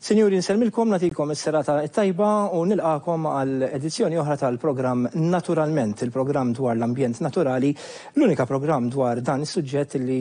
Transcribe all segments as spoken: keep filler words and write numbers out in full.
Sinjuri, nsellmilkom, nagħtikom is-serata tajba u nilqagħkom għal edizzjoni oħra tal-programm Naturalment, il-programm dwar l-ambjent naturali, l-unika programm dwar dan is-suġġett li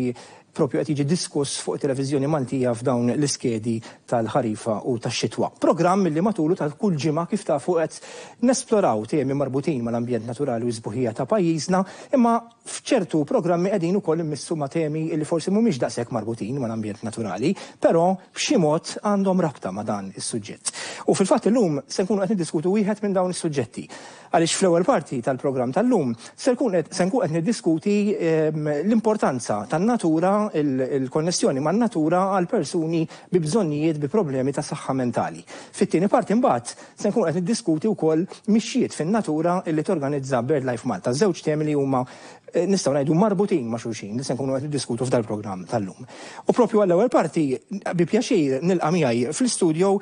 propju qed jiġi diskuss fuq televiżjoni Maltija f'dawn l-iskedi tal-ħarifa u tax-xitwa. Programm li matulu ta' kull ġimgħa, kif tafu, qed nesploraw temi marbutin mal-ambjent naturali u s-sbuħija ta' pajjiżna, imma f'ċertu programmi qegħdin ukoll immissu ma' temi li forsi mhumiex daqshekk marbutin mal-ambjent naturali, però b'xi mod għandhom rabta ma' dan is-suġġett. U fil-fatt illum se nkunu qed niddiskutu wieħed minn dawn is-suġġetti. Għaliex fl-ewwel parti tal-programm tal-lum se nkun qed niddiskuti ehm, l-importanza tan-natura, il-konnessjoni man-natura għal persuni bi bżonnijiet, bi problemi ta' saħħa mentali. Fit-tieni parti mbagħad se nkun qed niddiskuti wkoll mixjiet fin-natura illi torganizza BirdLife Malta. Żewġ temi li huma eh, nistgħu ngħidu marbutin ma' xulxin li se nkunu qed niddiskutu f'dal-programm tal-lum. U propju għall-ewwel parti bi pjaċir nilqa' miegħi fl-istudio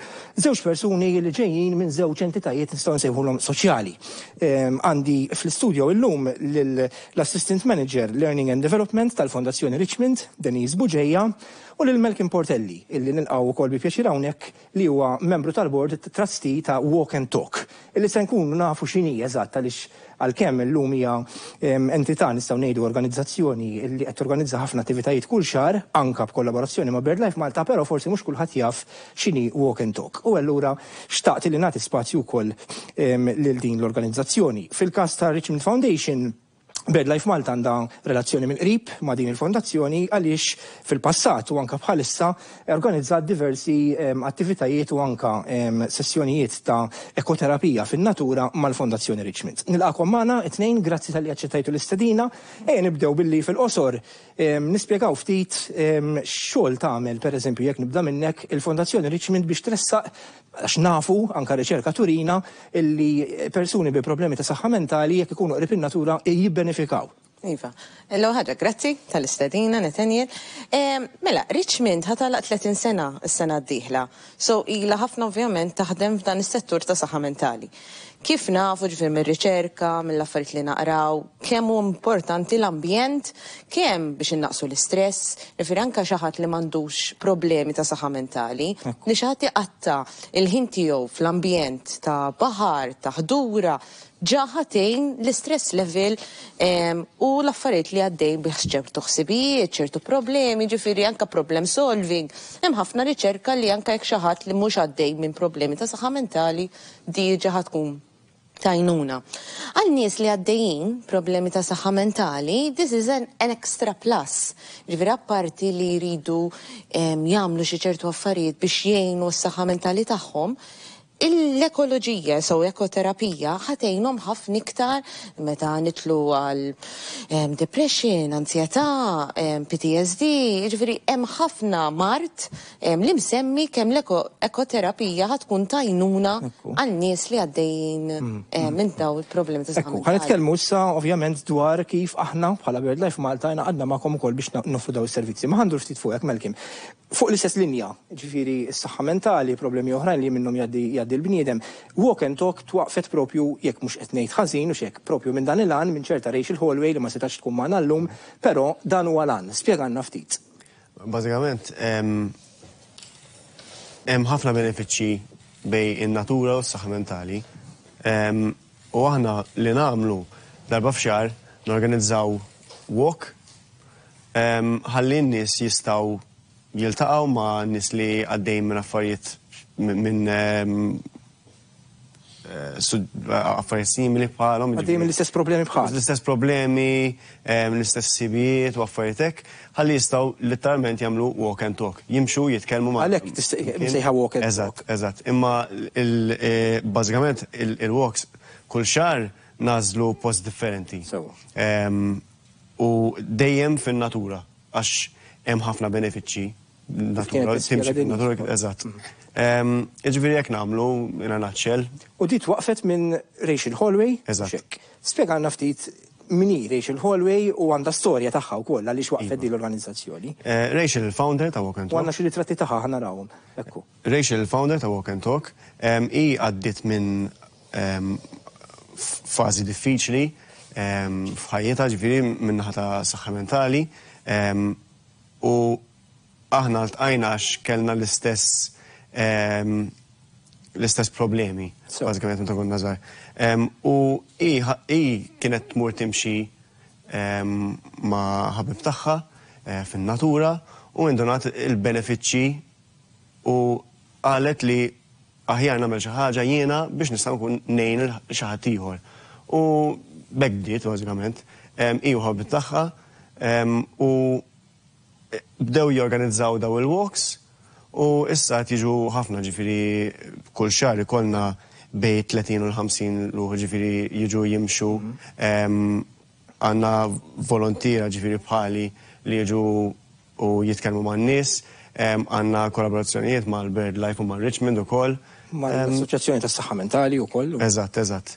żewġ persuni li ġejjin minn żewġ entitajiet nistgħu nsejħulhom soċjali. Ehm, għandi fl-istudio illum l-Assistant Manager Learning and Development tal-Fondazzjoni Richmond, Denise Bugeja, u lil Malcolm Portelli, illi nilqgħu wkoll bi pjaċir hawnhekk, li huwa membru tal-board trustee ta' Walk and Talk, illi se nkunu nafu x'inhi eżatt, għaliex għalkemm illum hija entità, nistgħu ngħidu organizzazzjoni li qed torganizza ħafna attivitajiet kull xahar anka b'kollaborazzjoni ma' BirdLife Malta, però forsi mhux kulħadd jaf x'inhi Walk and Talk. U allura xtaqt li nagħti spazju wkoll lil din l-organizzazzjoni. Fil-każ ta' Richmond Foundation, BirdLife Malta għandha relazzjoni mill-qrib ma' din il-fondazzjoni għaliex fil-passat u anka bħalissa organizzat diversi um, attivitajiet u anka um, sessjonijiet ta' ekoterapija fin-natura mal-Fondazzjoni Richmond. Nilqagħkom magħna it-tnejn, grazzi talli aċċettajtu l-istedina, e nibdew billi fil-qosor um, nispjegaw ftit um, xogħol tagħmel, pereżempju jekk nibda minnek, il-Fondazzjoni Richmond biex tressaq, għax nafu, anka riċerka turina, illi persuni bi problemi ta' saħħa mentali, jekk ikunu qrib in-natura, jibbenefikaw. Iva, l ħaġa, grazzi tal-istedina, Nathaniel. Mela, Richmond ħa tagħlaq tletin sena s-sena d-dieħla. So, ila ħafna ovvjament taħdem f'dan is-settur ta' saħħa mentali. Kif nafu, ġifieri mir-riċerka, mill-affarijiet li naqraw, kemm hu importanti l-ambjent, kemm biex innaqsu l-istress, ġifieri anka xi ħadd li m'għandux problemi ta' saħħa mentali, li xi ħadd iqatta' il-ħin tiegħu fl-ambjent ta' baħar, ta' ħdura, ġa ħa tgħin l-istress level u l-affarijiet li għaddej bih, ċertu ħsibijiet, ċertu problemi, ġifieri anka problem solving. Hemm ħafna riċerka li anka jekk xi ħadd li mhux għaddej minn problemi ta' saħħa mentali, diġà ħa tkun t'għajnuna. Għal nies li għaddejjin problemi ta' saħħa mentali, this is an, an extra plus. Ġifieri apparti li jridu jagħmlu xi ċertu affarijiet biex jgħinu s-saħħa mentali tagħhom, l-ekoloġija, so ekoterapija, ħa tgħinhom ħafna iktar meta nidħlu għal depression, ansjetà, P T S D, ġifieri hemm ħafna mard li msemmi kemm l-ekoterapija ħa tkun t'għajnuna għal nies li għaddejjin mm, mm. minn daw il-problemi ta' saħħa. Ħa nitkellmu issa ovvjament dwar kif aħna bħala BirdLife Malta għadna magħkom ukoll biex noffru daw is-servizzi. Ma ħa ndur ftit fuqek, Malcolm. Fuq l-istess linja, ġifieri s-saħħa mentali, problemi oħrajn li minnhom jgħaddi l-bniedem. Walk and Talk twaqfet propju, jekk mhux qed ngħid ħażin u xek, propju minn dan il-għan minn ċerta Rachel Hollway li ma setax tkun magħna llum, però dan huwa l-għan. Spjegalna ftit. Bażikament, hemm ħafna benefiċċji bejn in-natura u s-saħħa mentali. U aħna li nagħmlu, darba f'xahar norganizzaw walk ħalli n-nies jistgħu jiltaqgħu ma' nies li għaddejn minn affarijiet, minn eh, affarijiet simili bħalhom. Għaddejn mill-istess problemi bħal. L-istess problemi, l-istess ħsibijiet u affarijiet hekk, ħalli jistgħu literalment jagħmlu walk and talk. Jimxu, jitkellmu ma' Għalhekk msejħa walk and talk. Eżatt, eżatt. Imma eh, bażikament il-walks kull xahar nagħżlu post differenti. U dejjem fin-natura, għax hemm ħafna benefiċċji natura, timxi fin-natura, eżatt. Ġifieri jekk nagħmlu in a nutshell. U di twaqfet minn Rachel Hollway. Eżatt. Spjegalna ftit min hi Rachel Hollway u għandha storja tagħha wkoll għaliex waqfet din l-organizzazzjoni. Eh, Rachel, il-founder ta' Walk and Talk. U għandna xi ritratti tagħha, ħa narawhom. Ekku. Rachel, il-founder ta' Walk and Talk, hi għaddiet minn fażi diffiċli f'ħajjitha, ġifieri min-naħa ta' saħħa mentali, u aħna ltqajna għax kellna l-istess l-istess problemi, bażikament meta konna żgħar. U hi kienet tmur timxi ma' ħabib tagħha fin-natura u indunat il-benefiċċji u qalet li aħjar nagħmel xi ħaġa jiena biex nista' nkun ngħin xi ħadd ieħor. U b'hekk bdiet bażikament, hi u ħabib tagħha u bdew jorganizzaw daw il-walks u issa qed jiġu ħafna, ġifieri kull xahar ikollna bejn tletin u l-ħamsin ruħ, ġifieri jiġu jimxu. Għandna volontiera ġifieri bħali li jiġu u jitkellmu man-nies, għandna kollaborazzjonijiet mal-Bird Life u mal-Richmond ukoll. Mal-Assoċjazzjoni tas-Saħħa Mentali wkoll. Eżatt, eżatt.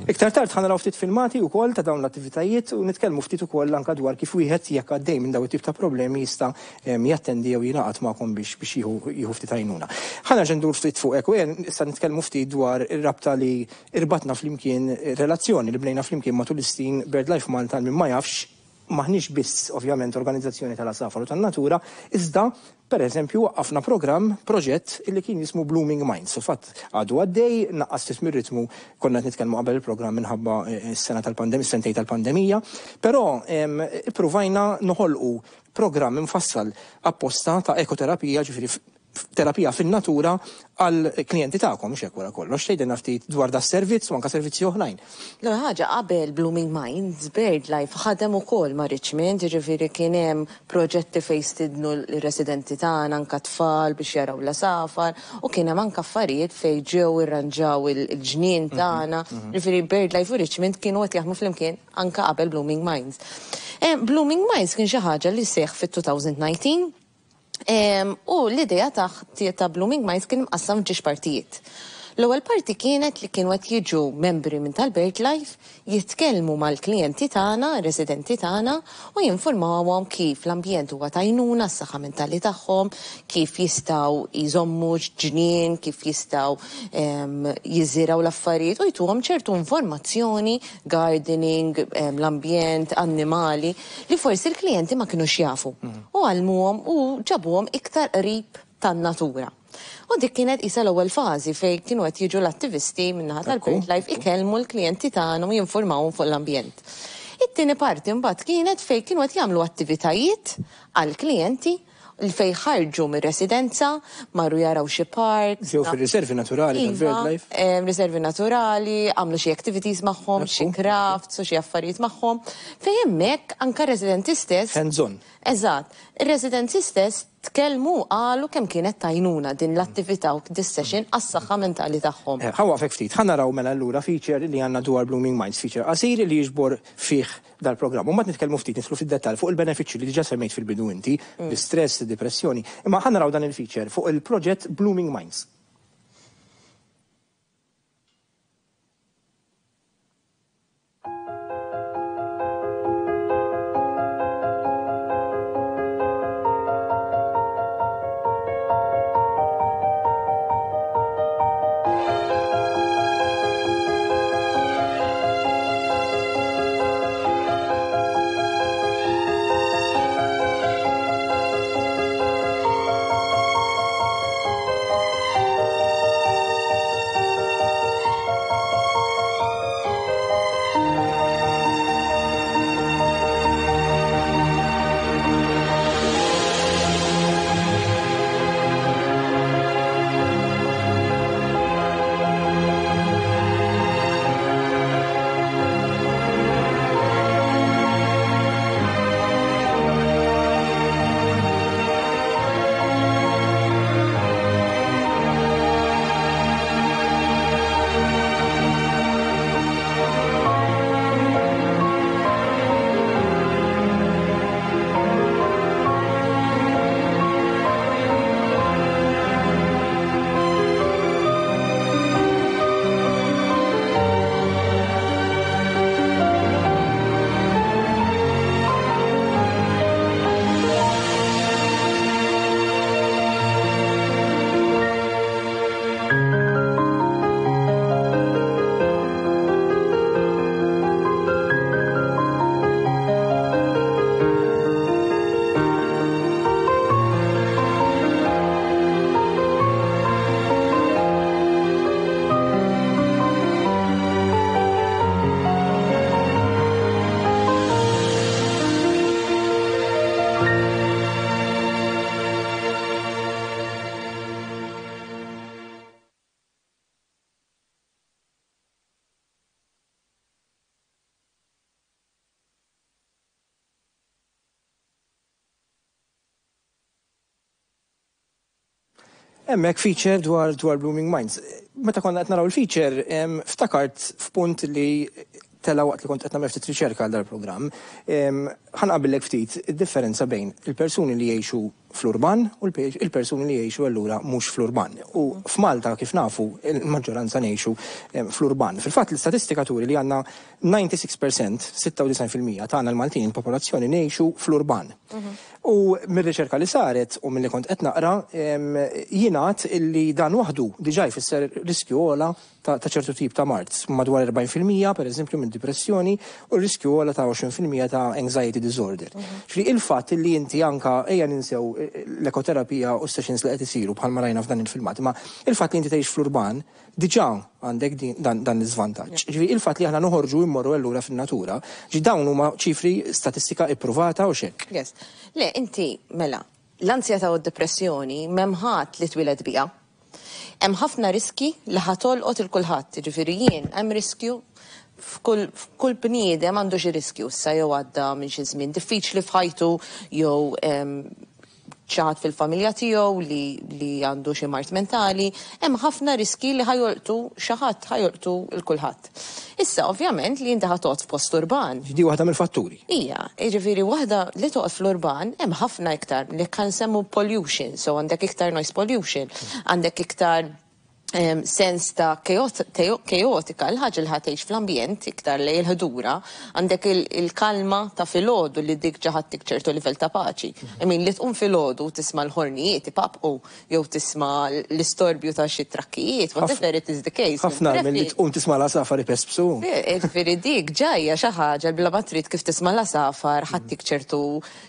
Iktar tard ħa naraw ftit filmati wkoll ta' dawn l-attivitajiet u nitkellmu ftit ukoll anke dwar kif wieħed jekk għaddej minn dawn it-tip ta' problemi jista' jattendi jew jingħaqad magħkom biex biex jieħu ftit għajnuna. Ħa nerġa' ndur ftit fuqek u issa nitkellmu ftit dwar ir-rabta li irbatna flimkien, relazzjoni li bnejna flimkien matul is-snin Bird Life Malta. Min ma jafx, maħniex biss ovvjament organizzazzjoni tal-għasafar u tan-natura, iżda per eżempju waqqafna programm, proġett illi kien jismu Blooming Minds. Fil-fatt għadu għaddej, naqqas ftit mir-ritmu, konna qed nitkellmu qabel il-programm minħabba s-sena tal-pandemija, s-sentej tal-pandemija, però ippruvajna noħolqu programm imfassal apposta ta' ekoterapija, ġifieri terapija fin-natura għal klijenti tagħkom, mhux hekk wara kollox. Tgħidilna ftit dwar da servizz u anke servizzi oħrajn. L-ewwel ħaġa, qabel Blooming Minds, Bird Life ħadem ukoll ma' Richmond, jiġifieri kien hemm proġetti fejn stidnu l-residenti tagħna anke tfal biex jaraw l-għasafar, u kien hemm anke affarijiet fejn ġew irranġaw il-ġnien tagħna. Jiġifieri Bird Life u Richmond kienu qed jaħdmu flimkien anke qabel Blooming Minds. Blooming Minds kien xi ħaġa li seħħ fit-two thousand nineteen. U l-idea ta' ta' Blooming Minds kien mqassam f'ġiex partijiet. L-ewwel parti kienet li kienu qed jiġu membri minn tal-Bird Life jitkellmu mal-klijenti tagħna, residenti tagħna, u jinformawhom kif l-ambjent huwa t'għajnuna s-saħħa mentali tagħhom, kif jistgħu jżommu ġnien, kif jistgħu jiżirgħu l-affarijiet u jtuhom ċertu informazzjoni, gardening, l-ambjent, annimali, li forsi l-klijenti ma kinux jafu. U għallmuhom u ġabuhom iktar qrib tan-natura. U dik kienet isa l-ewwel fażi fejn kienu qed jiġu l-attivisti min-naħa tal-Bird Life ikellmu l-klijenti tagħna u jinformawhom fuq l-ambjent. It-tieni parti mbagħad kienet fejn kienu qed jagħmlu attivitajiet għall-klijenti fejn ħarġu mir-residenza, marru jaraw xi park. Ġew fir-riservi naturali tal-Bird Life. Iva, riservi naturali, għamlu xi activities magħhom, xi crafts u xi affarijiet magħhom. Fejn hemmhekk anke residenti stess. Hands on. Eżatt, ir-residenti stess tkellmu qalu kemm kienet t'għajnuna din l-attività u dis session għas-saħħa mentali tagħhom. Ħa nwaqqfek ftit, ħa naraw mela allura feature li għandna dwar Blooming Minds, feature qasir li jiġbor fih dal-programm. U mbagħad nitkellmu ftit, nidħlu fid-dettall fuq il-benefiċċji li diġà semmejt fil-bidu inti, l-istress, id-depressjoni. Imma ħa naraw dan il-feature fuq il-proġett Blooming Minds. Hemmhekk feature dwar dwar Blooming Minds. Meta konna qed naraw il-feature, em, ftakart f'punt li tela waqt li kont qed nagħmel ftit riċerka għal dal-programm. Ħa nqabillek ftit id-differenza bejn il-persuni li jgħixu fl-urban u il-persuni li jgħixu allura mhux fl-urban. U f'Malta, kif nafu, il-maġġoranza ngħixu fl-urban. Fil-fatt, l-istatistika turi li għandna disgħa u disgħin fil-mija, sitta u disgħin fil-mija tagħna l-Maltin, il-popolazzjoni, ngħixu fl-urban. U mir-riċerka li saret u milli kont qed naqra, jingħad illi dan waħdu diġà jfisser riskju ogħla ta' ċertu tip ta' mard, madwar erbgħin fil-mija per eżempju minn depressjoni u riskju ogħla ta' għoxrin fil-mija ta' anxiety disorder. Ġifieri il-fatt li inti anka, ejja ninsew l-ekoterapija u sessions li qed isiru bħalma rajna f'dan il-filmat, ma il-fatt li inti tgħix fl-urban diġà għandek dan, dan l-iżvantaġġ. Ġifieri il-fatt li aħna noħorġu, immorru allura fin-natura, ġi dawn huma ċifri, statistika ippruvata u xek. Yes. Le, inti, mela, l-ansjetà u d-depressjoni m'hemm ħadd li twieled biha. Hemm ħafna riski li ħa tolqot lil kulħadd, ġifieri jien hemm riskju, f'kull f'kull bniedem għandu xi riskju, issa jew għadda minn xi żmien diffiċli f'ħajtu jew em, xi ħadd fil-familja tiegħu li, li għandu xi mard mentali, hemm ħafna riski li ħa jolqtu xi ħadd, ħa jolqtu lil kulħadd. Issa, ovvjament, li inti ħa toqgħod f'post urban. Di waħda mill-fatturi. Ija, jiġifieri waħda li toqgħod fl-urban hemm ħafna iktar li kan semmu pollution, so għandek iktar noise pollution, għandek iktar em, sens ta' kaotika, l-ħaġa li ħa tgħix fl-ambjent iktar li l-ħdura, għandek il-kalma ta' filgħodu li dik ġa ħa ttik ċertu livell ta' paċi. I mean, li tqum filgħodu tisma' l-ħornijiet ipaqpqu jew tisma' l-istorbju ta' xi trakkijiet, whatever it is the case. Ħafna mill-li tqum tisma' l-għasafar ipespsu. Ġifieri dik ġajja xi ħaġa bla ma trid, kif tisma' l-għasafar ħa ttik ċertu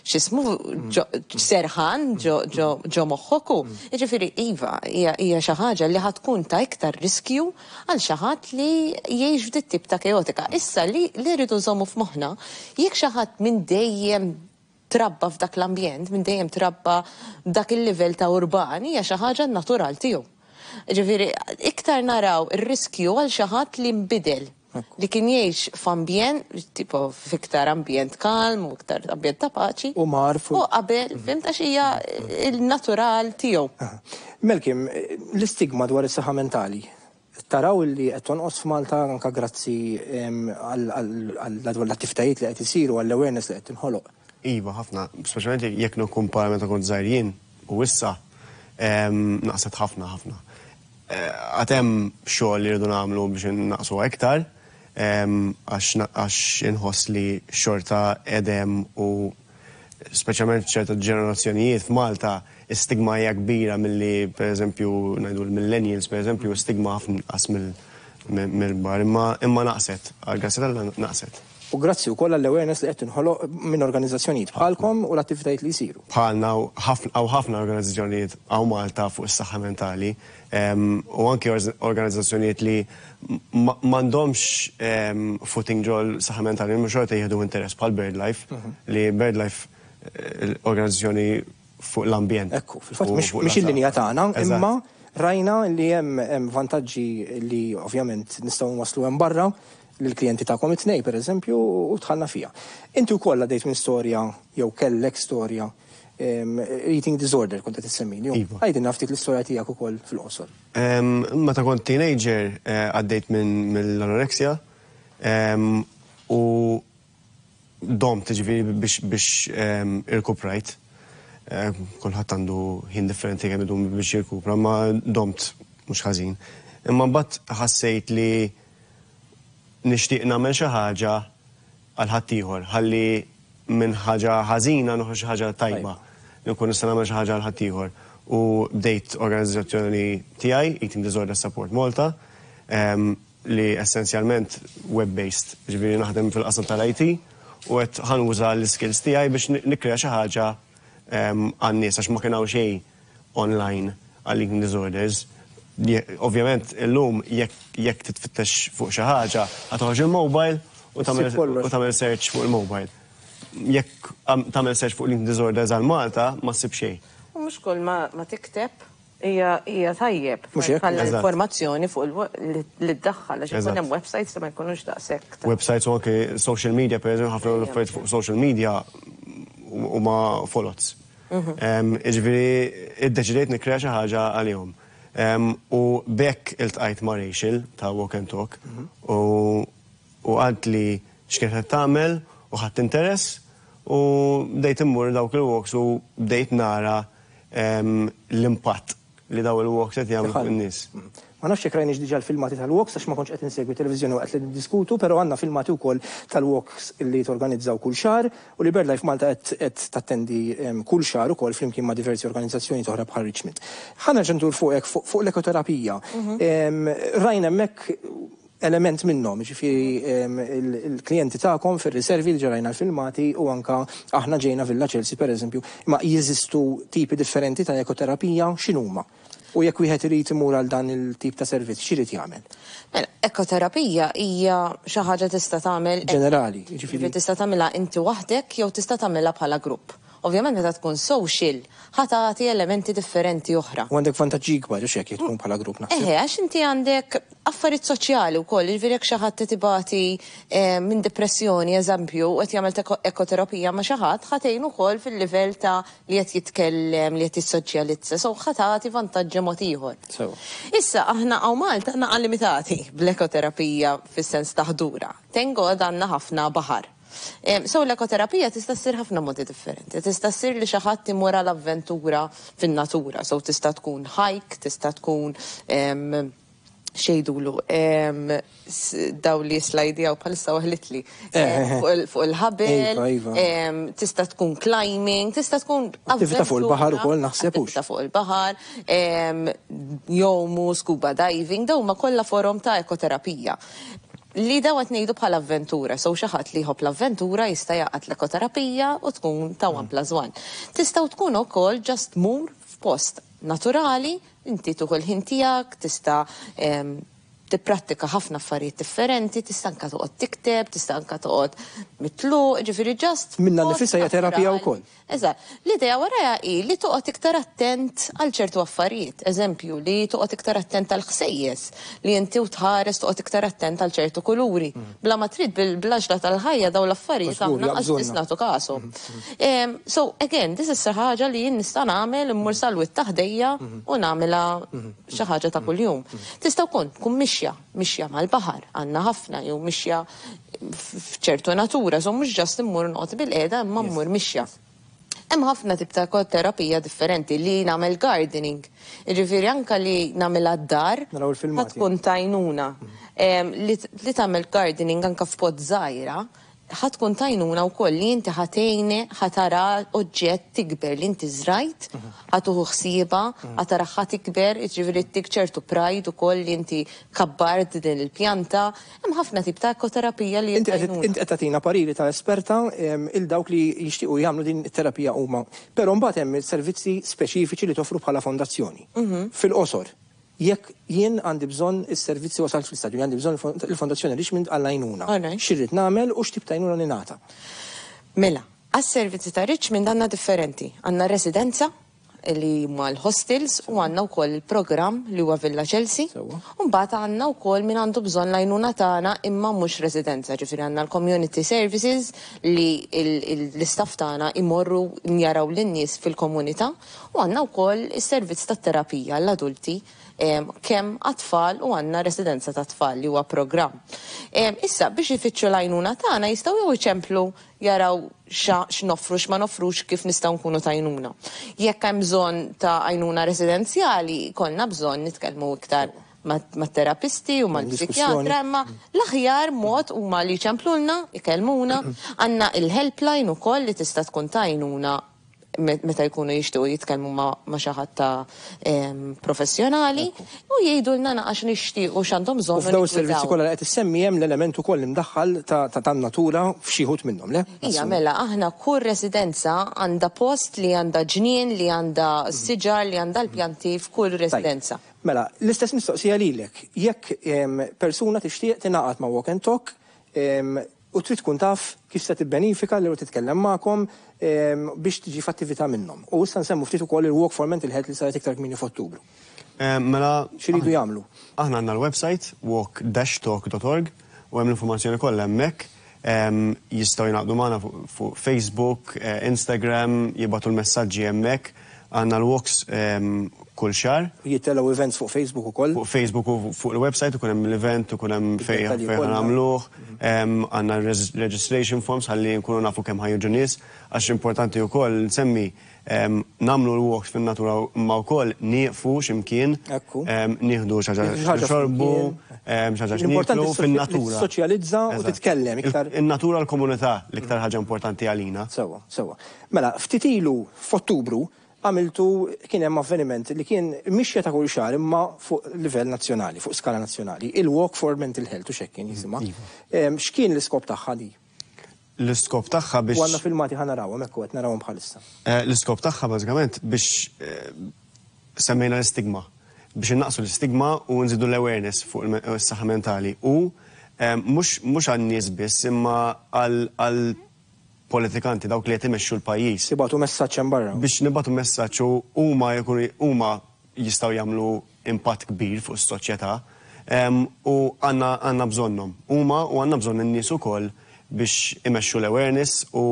x'ismu serħan ġo moħħok. Ġifieri iva, hija xi ħaġa li ħa tkun ta' iktar riskju għal xi ħadd li jgħix f'dit tip ta' kaotika. Issa li li rridu nżommu f'moħħna, jekk xi ħadd minn dejjem trabba f'dak l-ambjent, minn dejjem trabba dak il-livell ta' urban, hija xi ħaġa natural tiegħu. Ġifieri, iktar naraw ir-riskju għal xi ħadd li nbidel, li kien jgħix f'ambjent, tipo f'iktar ambjent kalm u iktar ambjent ta' paċi. U marfu. U qabel, fhimt, għax hija il-natural tiegħu. Melkim, l-istigma dwar is-saħħa mentali. Taraw li qed tonqos f'Malta anka grazzi għal l-attivitajiet li qed isiru, għall-awareness li qed tinħoloq? Iva, ħafna, speċjalment jekk nikkumpara meta kont żgħir jien u issa, naqset ħafna ħafna. Għad hemm xogħol li rridu nagħmlu biex naqsu iktar, għax inħoss li xorta edem u speċjalment ċerta ġenerazzjonijiet f'Malta stigma hija kbira milli, pereżempju, ngħidu l-millennials, pereżempju, stigma ħafna inqas mill-bar, imma imma naqset, għal Alla naqset. U grazzi wkoll għall-awareness li qed tinħoloq minn organizzazzjonijiet bħalkom u l-attivitajiet li jsiru. Bħalna, hawn ħafna organizzazzjonijiet hawn Malta fuq is-saħħa mentali u anki organizzazzjonijiet li m'għandhomx footing ġol saħħa mentali, mhux xorta jieħdu interess, bħal BirdLife, mhm. li BirdLife eh, organizzazzjoni fuq l-ambjent. Ekku, fil-fatt mhix il-linja tagħna, imma rajna li hemm vantaġġi li ovvjament nistgħu waslu hemm barra lill-klijenti tagħkom it-tnejn, per eżempju, u dħalna fija. Inti wkoll għaddejt minn storja jew kellek storja, eating disorder kont qed issemmini. Iva. Għidilna ftit l-istorja tiegħek ukoll fil-qosor. Meta kont teenager eh, għaddejt minn mill-anorexia u domt, ġifieri, biex biex irkuprajt. Eh, kulħadd għandu ħin differenti kemm idum biex jirkupra, ma domt mhux ħażin. Imma mbagħad ħassejt li nixtieq nagħmel xi ħaġa għal ħaddieħor, ħalli minn ħaġa ħażina noħroġ xi ħaġa tajba. Nkun nista' nagħmel xi ħaġa għal ħaddieħor. U bdejt organizzazzjoni tiegħi, Eating Disorder Support Malta, li essenzjalment web-based, ġifieri naħdem fil-qasam tal-I T u qed ħa nuża l-skills tiegħi biex nikkrea xi ħaġa għan-nies, għax ma kien hawn xejn online għal eating disorders. Ovvjament, illum jekk titfittex fuq xi ħaġa, ħa toħroġ il-mobile u tagħmel search fuq il-mobile. Jekk tagħmel search fuq eating disorders għal Malta, ma ssib xejn. U mhux kull ma tikteb hija hija tajjeb. Mhux hekk? Bħala informazzjoni fuq li ddaħħal, għax ikun hemm websites li ma jkunux daqshekk. Websites u anke social media, per eżempju, ħafna l-affarijiet fuq social media huma foloz. Jiġifieri iddeċidejt nikkrea xi ħaġa għalihom. U b'hekk iltqajt ma' Rachel ta' Walk and Talk u u qaltli x'kienet qed tagħmel u ħadt interess u bdejt immur dawk il-walks u bdejt nara l-impatt li daw il-walks qed jagħmlu fuq in-nies. Ma nafx jekk rajniex diġà l-filmati tal-walks, għax ma kontx qed insegwi televiżjoni waqt li niddiskutu, però għandna filmati wkoll tal-walks li torganizzaw kull xahar u li BirdLife Malta qed tattendi kull xahar ukoll flimkien ma' diversi organizzazzjoni oħra bħal Richmond. Ħa nerġa' ndur fuqek fuq l-ekoterapija. Rajna hemmhekk element minnhom, ġifieri il-klijenti tagħkom fir-riservi li ġarajna l-filmati u anka aħna ġejna Villa Chelsea pereżempju, imma jeżistu tipi differenti ta' ekoterapija, x'inhuma? U jekk wieħed irid imur għal dan il-tip ta' servizz, x'irid jagħmel? Mela, ekoterapija hija xi ħaġa tista' tagħmel ġenerali, jiġifieri tista' tagħmilha inti waħdek jew tista' tagħmilha bħala grupp. Ovvjament meta tkun social, ħa tagħti elementi differenti oħra. U għandek vantaġġi ikbar għax jekk tkun bħala grupp naħseb. Eħe, għax inti għandek affarijiet soċjali wkoll, jiġifieri jekk xi ħadd tibati minn depressjoni, eżempju, u qed jagħmel ekoterapija ma' xi ħadd, ħa tgħin ukoll fil-livell ta' li qed jitkellem, li qed jissoċjalizza, so ħa tagħti vantaġġi mod ieħor. Issa aħna hawn Malta naqa' limitati bl-ekoterapija fis-sens ta' ħdura. Thank God għandna ħafna baħar. So l-ekoterapija tista' ssir ħafna modi differenti. Tista' ssir li xi ħadd imur għal avventura fin-natura. So tista' tkun hike, tista' tkun xejdulu daw li slidjaw bħalissa waħlitli fuq il-ħabel, tista' tkun climbing, tista' tkun attività fuq il-baħar ukoll naħseb hux. Attività fuq il-baħar, jgħumu, scuba diving, daw ma kollha forom ta' ekoterapija. Li daw qed ngħidu bħala avventura, so xi ħadd li jħobb l-avventura jista' jaqgħad l-ekoterapija u tkun ta' one plus one. Tistgħu tkun ukoll just mur f'post naturali, inti tuħu l-ħin tiegħek, tista' tipprattika ħafna affarijiet differenti, tista' anke toqgħod tikteb, tista' anke toqgħod mitluq, ġifieri just Minna nifisha hija terapija wkoll. Eżatt. L-idea warajha hi li toqgħod iktar attent għal ċertu affarijiet. Eżempju, li toqgħod iktar attent għal ħsejjes, li inti u tħares toqgħod iktar attent għal ċertu kuluri. Bla ma trid bil-blaġla tal-ħajja daw l-affarijiet aħna qas nagħtu kasu. So again, this is xi ħaġa li jien nista' nagħmel immur sal-wied ta' ħdejja u nagħmilha xi ħaġa ta' kuljum. Tista' wkoll tkun mixja, mixja mal-baħar, għandna ħafna jew mixja f'ċertu natura, so mhux just immur noqgħod bil-qiegħda imma mmur mixja. Hemm ħafna tip ta' ekoterapija differenti li nagħmel gardening. Jiġifieri anke li nagħmel għad-dar Naraw il-filmati. tkun t'għajnuna. Li tagħmel gardening anke f'pot żgħira, ħa tkun t'għajnuna wkoll li inti ħa tgħini ħa tara oġġett tikber li inti żrajt, ħa tieħu ħsiebha, ħa tara ħa tikber, jiġifieri ttik ċertu pride ukoll li inti kabbart din il-pjanta. Hemm ħafna tip ta' ekoterapija li Inti qed t'għajnuna. inti qed tagħtina pariri ta' esperta il dawk li jixtiequ jagħmlu din it-terapija huma. Però mbagħad hemm servizzi speċifiċi li toffru bħala fondazzjoni. Fil-qosor, jekk jien għandi bżonn is-servizzi wasalt fl-istadju, għandi bżonn il-Fondazzjoni Richmond għall-għajnuna. Alright. X'irrid nagħmel u x'tip ta' għajnuna ningħata? Mela, għas-servizzi ta' Richmond għandna differenti. Għandna residenza li huma l-hostels u għandna wkoll il-programm li huwa Villa Chelsea. Sewwa. U mbagħad għandna wkoll min għandu bżonn l-għajnuna tagħna imma mhux residenza, ġifieri għandna l-community services li l-istaff tagħna imorru jaraw lin-nies fil-komunità u għandna wkoll is-servizz tat-terapija għall-adulti kemm għat-tfal u għandna residenza ta' tfal li huwa programm. Issa biex ifittxu l-għajnuna tagħna jistgħu jew iċemplu jaraw x'noffru x'ma noffrux kif nistgħu nkunu t'għajnuna. Jekk hemm bżonn ta' għajnuna residenzjali, konna bżonn nitkellmu iktar mat-terapisti u mal-psikjatra, imma l-aħjar mod huma li jċemplulna, ikellmuna, għandna il-helpline ukoll li tista' tkun t'għajnuna meta jkunu jixtiequ jitkellmu ma' xi ħadd ta' professjonali u jgħidulna naqax nixtiequ x'għandhom bżonn. U f'dawn is-servizzi kollha li qed issemmi hemm l-element ukoll imdaħħal ta' tan-natura f'xi wħud minnhom, le? Ija, mela, aħna kull residenza għandha post li għandha ġnien, li għandha siġar, li għandha l-pjanti f'kull residenza. Mela, l-istess mistoqsija lilek. Jekk persuna tixtieq tingħaqad ma' Walk and Talk u trid tkun taf kif se tibbenifika li titkellem magħkom biex tiġi f'attività minnhom. U issa nsemmu ftit ukoll il-Walk for Mental Health li saret iktar kmieni f'Ottubru. Mela, x'iridu jagħmlu? Aħna għandna l-website walk dash talk dot org u hemm l-informazzjoni kollha hemmhekk. Jistgħu jingħaqdu magħna fuq Facebook, Instagram, jibagħtu l-messaġġi hemmhekk. Għandna l-walks kull xahar. Jittellgħu events fuq Facebook ukoll. Fuq Facebook u fuq il-website ikun hemm l-event, ikun hemm fejn fejn nagħmluh. Għandna registration forms ħalli nkunu nafu kemm ħa jiġu nies, għax importanti wkoll nsemmi nagħmlu l-walks fin-natura imma wkoll nieqfu x'imkien, nieħdu xi ħaġa xorbu, xi ħaġa x'nieklu fin-natura. Soċjalizza u titkellem iktar. In-natura l-komunità l-iktar ħaġa importanti għalina. Sewwa, sewwa. Mela, ftit ilu f'Ottubru għamiltu kien hemm avveniment li kien mixja ta' kull xahar imma fuq livell nazzjonali, fuq skala nazzjonali, il-Walk for Mental Health u x'hekk kien jisimha. X'kien l-iskop tagħha di? L-iskop tagħha biex. U għandna filmati ħa narawhom hekk qed narawhom bħalissa. L-iskop tagħha bażikament biex semmejna l-istigma, biex innaqsu l-istigma u nżidu l-awareness fuq is-saħħa mentali u mhux għan-nies biss imma għal politikanti dawk li qed imexxu l-pajjiż. Nibagħtu messaġġ hemm barra. Biex nibagħtu messaġġ u huma jkunu huma jistgħu jagħmlu impatt kbir fuq is-soċjetà u għandna għandna bżonnhom. Huma u għandna bżonn in-nies ukoll biex imexxu l-awareness u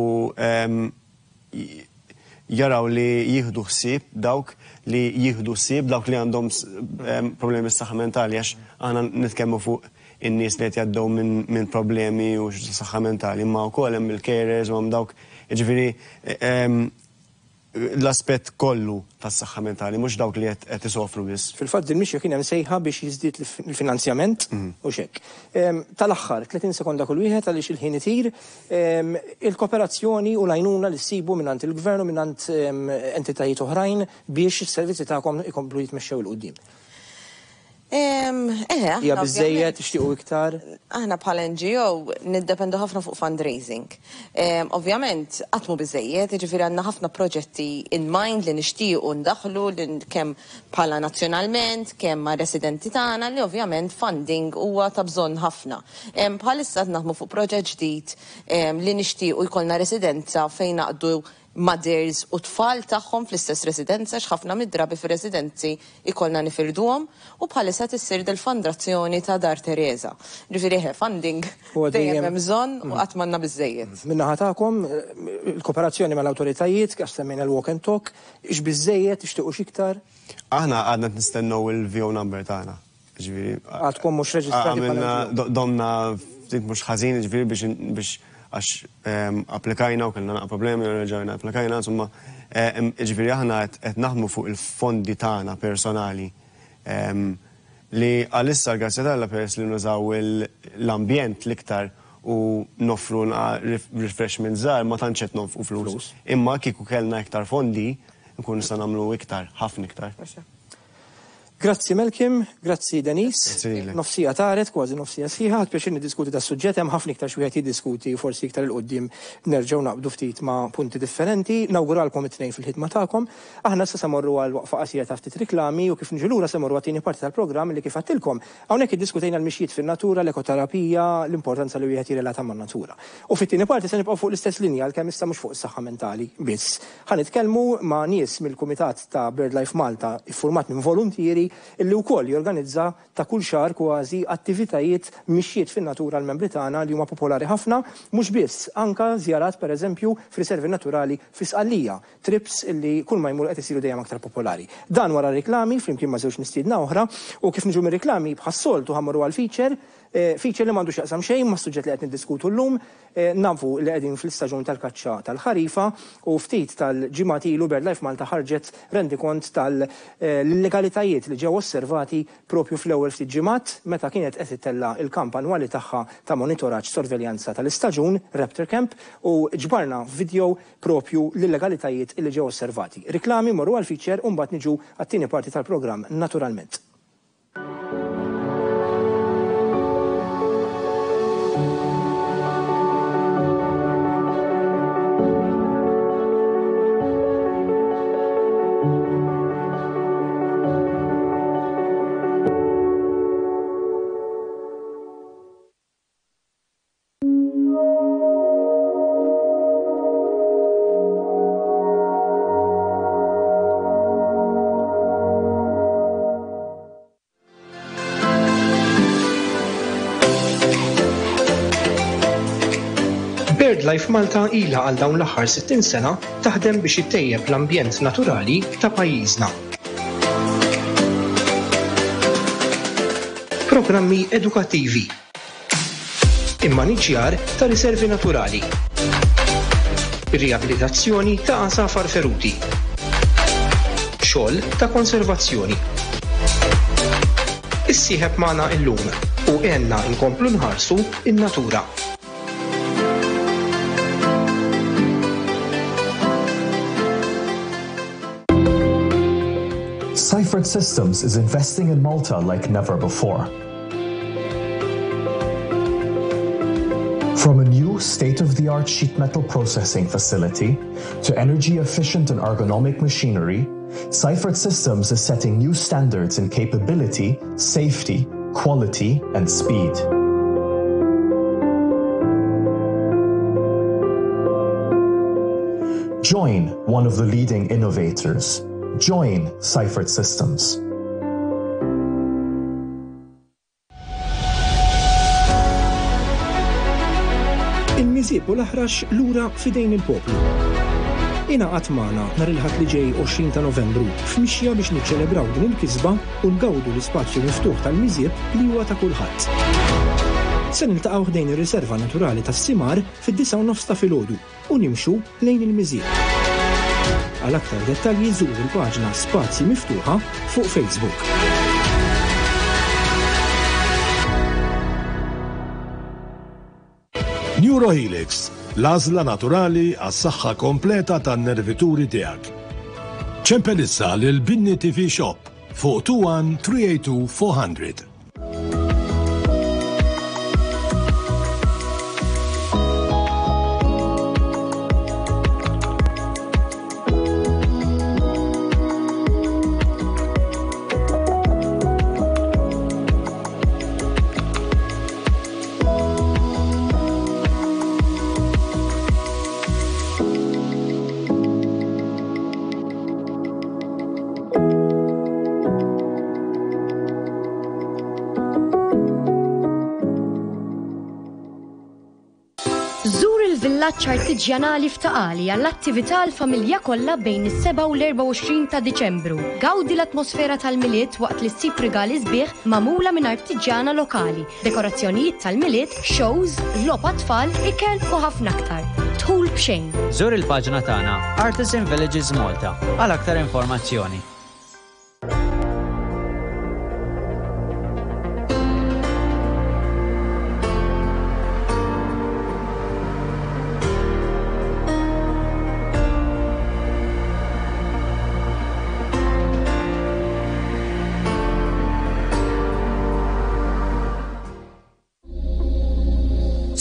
jaraw li jieħdu ħsieb dawk li jieħdu ħsieb dawk li għandhom problemi s-saħħa mentali, għax aħna nitkellmu fuq in-nies li qed jgħaddew minn problemi u saħħa mentali, imma wkoll hemm il-carers u hemm dawk, jiġifieri l-aspett kollu tas-saħħa mentali, mhux dawk li qed isofru biss. Fil-fatt din mixja kien hemm sejħa biex jiżdied il-finanzjament u x'hekk. Tal-aħħar tletin sekonda kull wieħed għaliex il-ħin itir, il-kooperazzjoni u l-għajnuna li ssibu mingħand il-gvern u mingħand entitajiet oħrajn biex is-servizzi tagħkom ikomplu jitmexxew 'il quddiem. Eħe, Hija biżejjed tixtiequ iktar? Aħna bħala N G O niddependu ħafna fuq fundraising. Ovvjament qatt mhu biżejjed, jiġifieri għandna ħafna proġetti in mind li nixtiequ ndaħlu li kemm bħala nazzjonalment, kemm ma' residenti tagħna li ovvjament funding huwa ta' bżonn ħafna. Bħalissa qed naħdmu fuq proġett ġdid li nixtiequ jkollna residenza fejn naqdu mothers u tfal tagħhom fl-istess residenza, x'ħafna mid-drabi fir-residenzi ikollna nifirduhom, u bħalissa tissir del-fondazzjoni ta' Dar Teresa. Ġifieri eħe, funding Huwa dejjem dejjem hemm bżonn u qatt m'għandna biżejjed. Min-naħa tagħkom, il-kooperazzjoni mal-awtoritajiet, għax semmejna l-walk and talk, ix biżejjed, tixtiequ x'iktar? Aħna għadna nistennew il-V O number tagħna. Ġifieri, Għadkom mhux reġistrati bħala għamilna N G O. do-, domna ftit mhux ħażin, ġifieri biex, biex għax, ehm, applikajna u kellna naqa' problemi u reġgħajna applikajna, insomma, ehm, ġifieri aħna qed, qed naħdmu fuq il-fondi tagħna personali, ehm, li għalissa grazzi t'Alla peress li nużaw il-, l-ambjent l-iktar u noffru naqa' ref-, refreshment żgħar ma tantx qed nonfqu flus. Flus. Imma kieku kellna iktar fondi, nkunu nistgħu nagħmlu iktar, ħafna iktar. Grazzi Malcolm, grazzi Denise. Grazzi lilek. Nofsija taret, kważi nofsija sħiħa, ħadd pjaċir niddiskuti da suġġett, hemm ħafna iktar xi wieħed jiddiskuti, forsi iktar il-qudiem nerġgħu naqbdu ftit ma' punti differenti. Nawguralkom it-tnejn fil-ħidma tagħkom. Aħna issa se morru għal waqfa qasira ta' ftit riklami u kif niġu lura se morru għat-tieni parti tal-programm li kif għedtilkom. Hawnhekk iddiskutejna l-mixjiet fin-natura, l-ekoterapija, l-importanza li wieħed jirrelata man-natura. U fit-tieni parti se nibqgħu fuq l-istess linja għalkemm issa mhux fuq is-saħħa mentali biss. Ħa nitkellmu ma' nies mill-Kumitat ta' BirdLife Malta iffurmat minn voluntieri illi wkoll jorganizza ta' kull xahar kważi attivitajiet mixjiet fin-natura l-membri tagħna li huma popolari ħafna, mhux biss anka żjarat pereżempju f'riservi naturali fi Sqallija, trips illi kull ma jmur qed isiru dejjem aktar popolari. Dan wara riklami flimkien ma' żewġ mistiedna oħra u kif niġu mir-riklami bħas-soltu ħammorru għal feature, eh, feature li m'għandux jaqsam xejn ma' suġġett li qed niddiskutu llum, eh, nafu li qegħdin fl-istaġun tal-kaċċa tal-ħarifa u ftit tal-ġimgħat ilu BirdLife Malta ħarġet rendikont tal-illegalitajiet li ġew osservati propju fl-ewwel ftit ġimgħat meta kienet qed ittella' il-kamp annwali tagħha ta' monitoraġġ sorveljanza tal-istaġun Raptor Camp u ġbarna video propju l-illegalitajiet li ġew osservati. Riklami morru għal feature u mbagħad niġu għat-tieni parti tal-programm naturalment. BirdLife Malta ilha għal dawn l-aħħar sittin sena taħdem biex ittejjeb l-ambjent naturali ta' pajjiżna. Programmi edukattivi. Immaniġjar ta' riservi naturali. Riabilitazzjoni ta' għasafar feruti. Xogħol ta' konservazzjoni. Issieħeb magħna illum u għenna nkomplu nħarsu in-natura. Seifert Systems is investing in Malta like never before. From a new state-of-the-art sheet metal processing facility to energy-efficient and ergonomic machinery, Seifert Systems is setting new standards in capability, safety, quality, and speed. Join one of the leading innovators. Join Seifert Systems. Il-Miżieb u l-Aħrax lura f'idejn il-poplu. Ingħaqad magħna nhar il-Ħadd li ġej għoxrin ta' Novembru f'mixja biex niċċelebraw din il-kisba u ngawdu l-ispazju miftuħ tal-Miżieb li huwa ta' kulħadd. Se niltaqgħu ħdejn ir-riserva naturali tas-Simar fid-disgħa u nofs ta' filgħodu u nimxu lejn il-Miżieb. Għal aktar dettalji żur il-paġna Spazji Miftuħa fuq Facebook. Neurohelix, l-għażla naturali għas-saħħa kompleta tan-nervituri tiegħek. Ċempel issa lil Binni T V Shop fuq two one three eight two four hundred. Żur il-villaġġ artiġjanali f'Taqali għall-attività għall-familja kollha bejn is-seba' u l-erbgħa u għoxrin ta' Diċembru. Gawdi l-atmosfera tal-Milied waqt li ssib rigali sbieħ magħmula minn artiġjana lokali, dekorazzjonijiet tal-Milied, shows, logħob għat-tfal, ikel u ħafna aktar. Dħul b'xejn. Żur il-paġna tagħna Artisan Villages Malta għal aktar informazzjoni.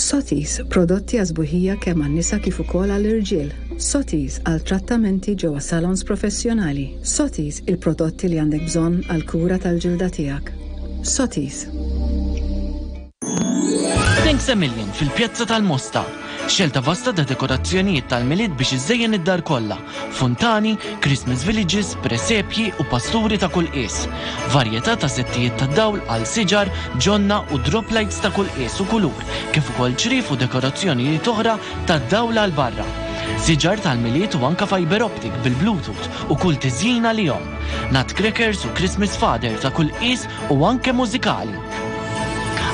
Sotis, prodotti għażbuħija kemm għan-nisa kif ukoll għall-irġiel. Sotis għal trattamenti ġewwa salons professjonali. Sotis, il-prodotti li għandek bżonn għal kura tal-ġilda tiegħek. Sotis. Thanks a Million fil-Pjazza tal-Mosta. Xelta vasta ta' dekorazzjonijiet tal-Milied biex iżejjen id-dar kollha. Fontani, Christmas villages, presepji u pasturi ta' kull qies. Varjetà ta' settijiet ta' dawl għal siġar, ġonna u drop lights ta' kull qies u kulur, kif ukoll ċrif u dekorazzjonijiet oħra ta' dawl għal barra. Siġar tal-Milied u anka fiber optic bil-Bluetooth u kull tiżjina li jom. Nutcrackers u Christmas Father ta' kull qies u anke mużikali.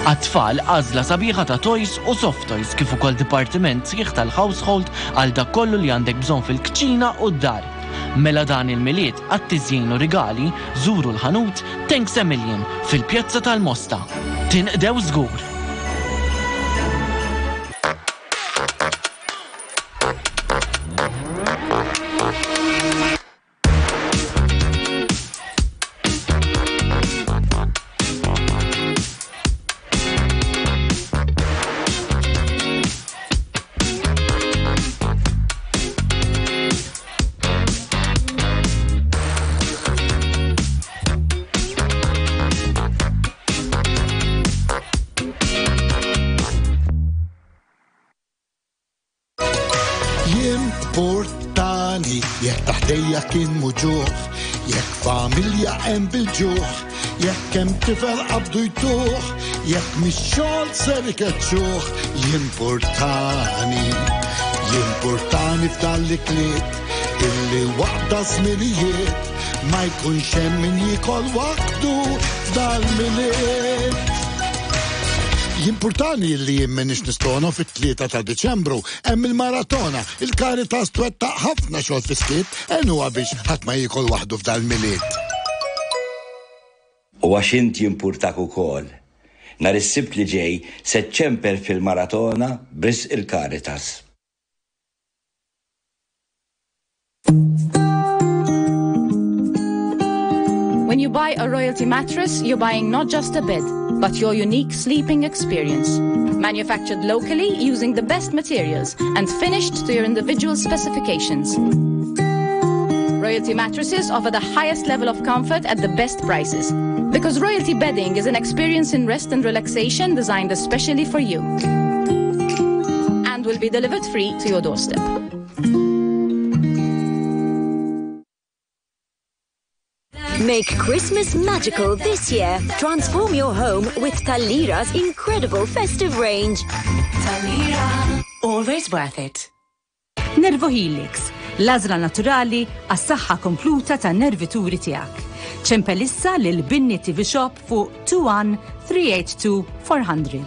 Għat-tfal għażla sabiħa ta' toys u soft toys kif ukoll dipartiment sħiħ tal-household għal dak kollu li għandek bżonn fil-kċina u d-dar. Mela dan il-Milied għat-tiżjin u rigali żuru l-ħanut Thanks a Million fil-Pjazza tal-Mosta. Tinqdew żgur! middejja kien muġuħ, jekk familja hemm bil-ġuħ, jekk hemm tifel qabdu jtuħ, jekk mix-xogħol ser ikeċċuh, jimpurtani, jimpurtani f'dal-ikliet, illi waqt żminijiet ma jkunx hemm min jiekol waħdu f'dal-Milied. Jimpurtani li jien m'iniex nistona fit-tlieta ta' Diċembru hemm il-maratona, il-Caritas twettaq ħafna xogħol fis-skiet għenuha biex ħadd ma jiekol waħdu f'dal-Milied. U għax int jimpurtak ukoll. Nhar is-Sibt li ġej se ċċempel fil-maratona b'risq il-Caritas. When you buy a Royalty mattress, you're buying not just a bed, but your unique sleeping experience. Manufactured locally using the best materials and finished to your individual specifications. Royalty mattresses offer the highest level of comfort at the best prices. Because Royalty bedding is an experience in rest and relaxation designed especially for you. And will be delivered free to your doorstep. Make Christmas magical this year. Transform your home with Talira's incredible festive range. Talira. Always worth it. Nervo Helix, l-għażla naturali għas-saħħa kompluta tan-nervituri tiegħek. Ċempel issa lil Binni T V Shop fuq two one three eight two four hundred.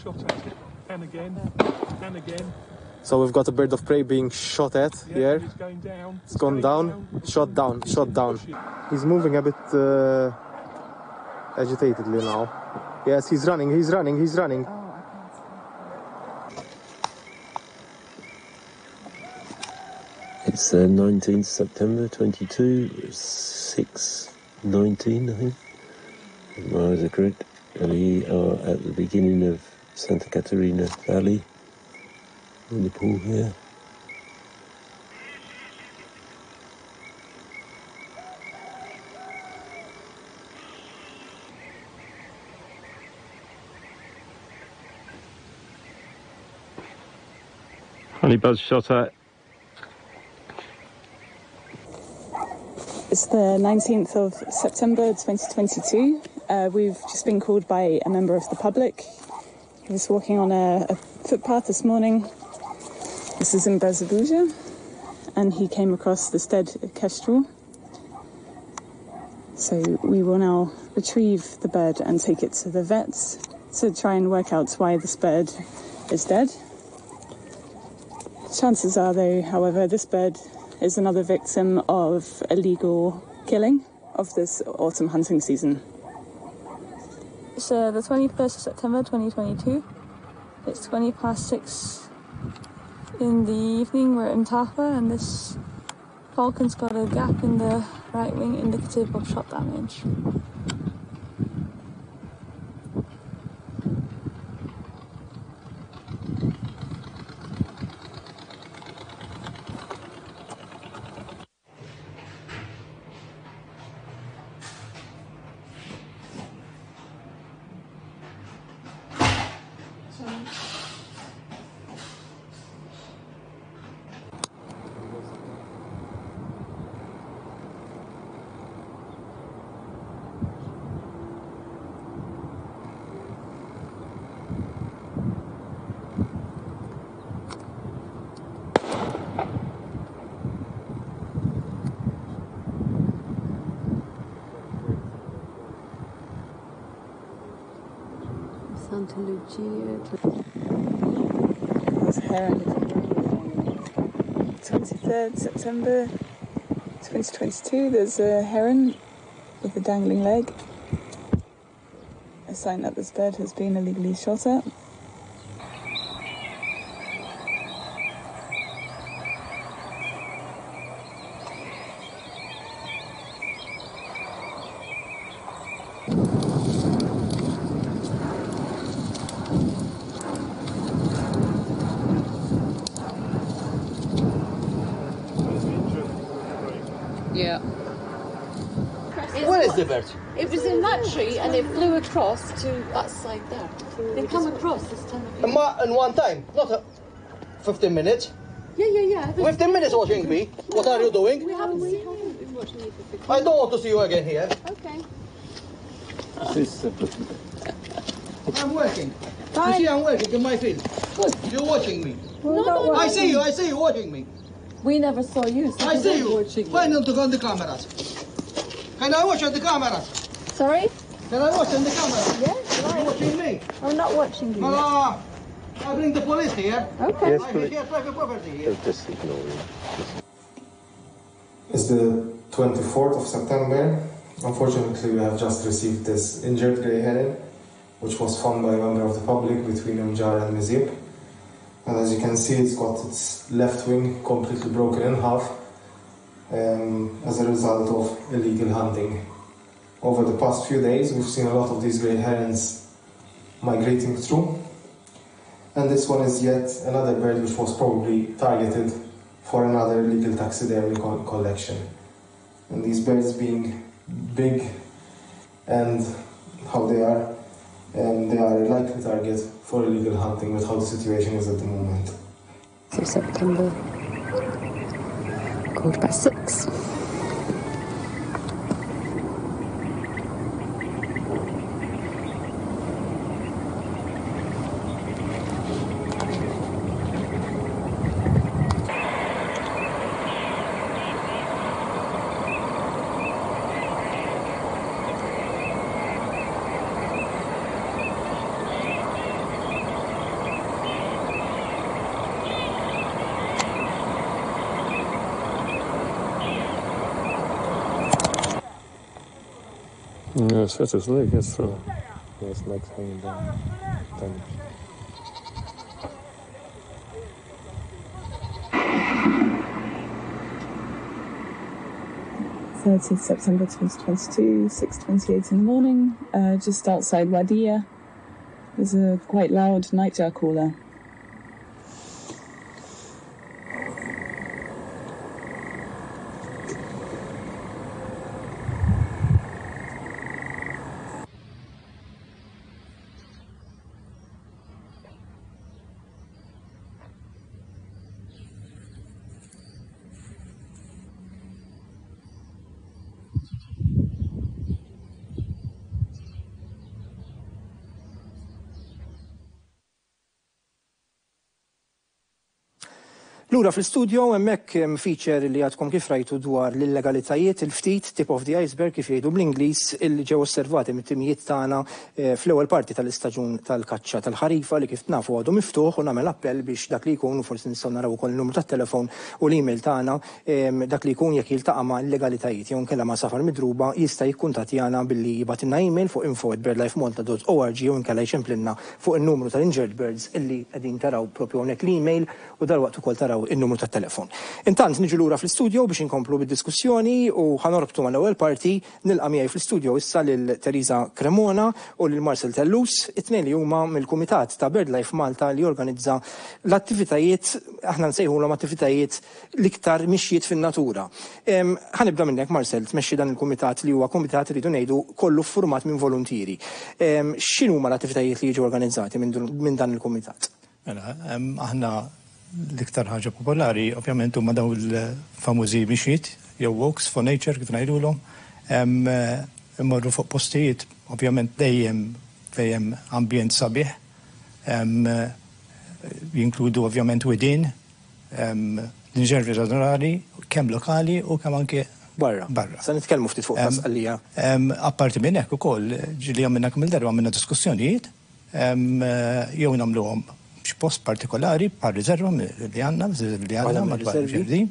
Shot at it, and again, and again. So we've got a bird of prey being shot at Yeah, here. He's going down. It's gone down, shot down, shot down. He's moving a bit uh, agitatedly now. Yes, he's running, he's running, he's running. It's the nineteenth September twenty-two, six nineteen, I think. If my eyes are correct. We are at the beginning of Santa Caterina Valley in the pool here. Honey buzz shot at. It's the nineteenth of September twenty twenty-two. Uh, we've just been called by a member of the public. He was walking on a, a footpath this morning. This is in Birżebbuġa, and he came across this dead kestrel. So we will now retrieve the bird and take it to the vets to try and work out why this bird is dead. Chances are, though, however, this bird is another victim of illegal killing of this autumn hunting season. It's uh, the twenty-first of September twenty twenty-two. It's twenty past six in the evening. We're in Mtarfa and this falcon's got a gap in the right wing indicative of shot damage. Santa Lucia. There's a heron. twenty-third September twenty twenty-two, there's a heron with a dangling leg. A sign that this bird has been illegally shot at. Yeah. Where is the bird? It was in that tree and it flew across to that side there. They come across this time of year. Ma in one time, not uh, fifteen minutes. Yeah, yeah, yeah. fifteen minutes watching me. What are you doing? We haven't seen you. We've watching you for fifteen. I don't want to see you again here. Okay. I'm working. You see, I'm working in my field. You're watching me. No, no, I see you, I see you watching me. We never saw you. So I we see weren't you. watching Why not to go on the cameras? Can I watch on the cameras? Sorry? Can I watch on the cameras? Yes, You're watching me. I'm not watching you. Ah, I bring the police here. Okay. Yes, I please. here private property here. Just ignore him. It's the twenty-fourth of September. Unfortunately, we have just received this injured grey heron, which was found by a member of the public between Mġarr and Miżieb. And as you can see, it's got its left wing completely broken in half um, as a result of illegal hunting. Over the past few days, we've seen a lot of these grey herons migrating through. And this one is yet another bird which was probably targeted for another illegal taxidermy co- collection. And these birds being big and how they are, and they are a likely target for illegal hunting with how the situation is at the moment. So September, quarter past six. No, it's hurt his leg, that's for. Yeah, his leg's hanging down. Damaged. thirtieth September twenty twenty-two, six twenty-eight in the morning, uh, just outside Wagħija. There's a quite loud nightjar caller. Lura fl-studio hemmhekk hemm feature li għadkom kif rajtu dwar l-illegalitajiet, il-ftit tip of the iceberg kif jgħidu bl-Ingliż, illi ġew osservati mit-timijiet tagħna eh, fl-ewwel parti tal-istaġun tal-kaċċa tal-ħarifa li kif nafu għadu miftuħ, u nagħmel appell biex dak li jkun, u forsi nistgħu naraw ukoll il-numru tat-telefon u l-email tagħna, em, dak li jkun jekk jiltaqa' ma' illegalitajiet jew inkella ma' għasafar midruba jista' jikkuntattjana billi jibgħatilna email fuq info at birdlifemalta dot org jew inkella jċemplinna fuq in-numru tal-Injured Birds illi qegħdin taraw propju hawnhekk l-email u dalwaqt ukoll taraw il-numru tat-telefon. Intant niġu lura fl-istudio biex inkomplu bid-diskussjoni u ħanorbtu mal-ewwel parti. Nilqa' miegħi fl-istudio issa lil Teresa Cremona u lil Marcel Tellus, it-tnejn li huma mill-Kumitat ta' BirdLife Malta li jorganizza l-attivitajiet, aħna nsejħulhom attivitajiet l-iktar mixjiet fin-natura. Em, Ħanibda minnek Marcel, tmexxi dan il-kumitat li huwa kumitat rridu ngħidu kollu ffurmat minn volontieri. Em, X'inhuma l-attivitajiet li jiġu organizzati minn dun-, minn dan il-kumitat? Mela, em, aħna l-iktar ħaġa popolari ovvjament huma dawn il-famużi mixjiet jew walks for nature kif ngħidulhom. Em, Immorru fuq postijiet ovvjament dejjem fejn hemm ambjent sabiħ. Em, jinkludu ovvjament widien, em, riservi naturali, kemm lokali u kemm anke barra. Barra. Se nitkellmu ftit fuq Em, tas-Sqallija. em, Apparti minn hekk ukoll, ġieli għamilna kemm il-darba għamilna diskussjonijiet, em, jew nagħmluhom xi post partikolari bħal riserva li għandna, li għandna madwar riservi.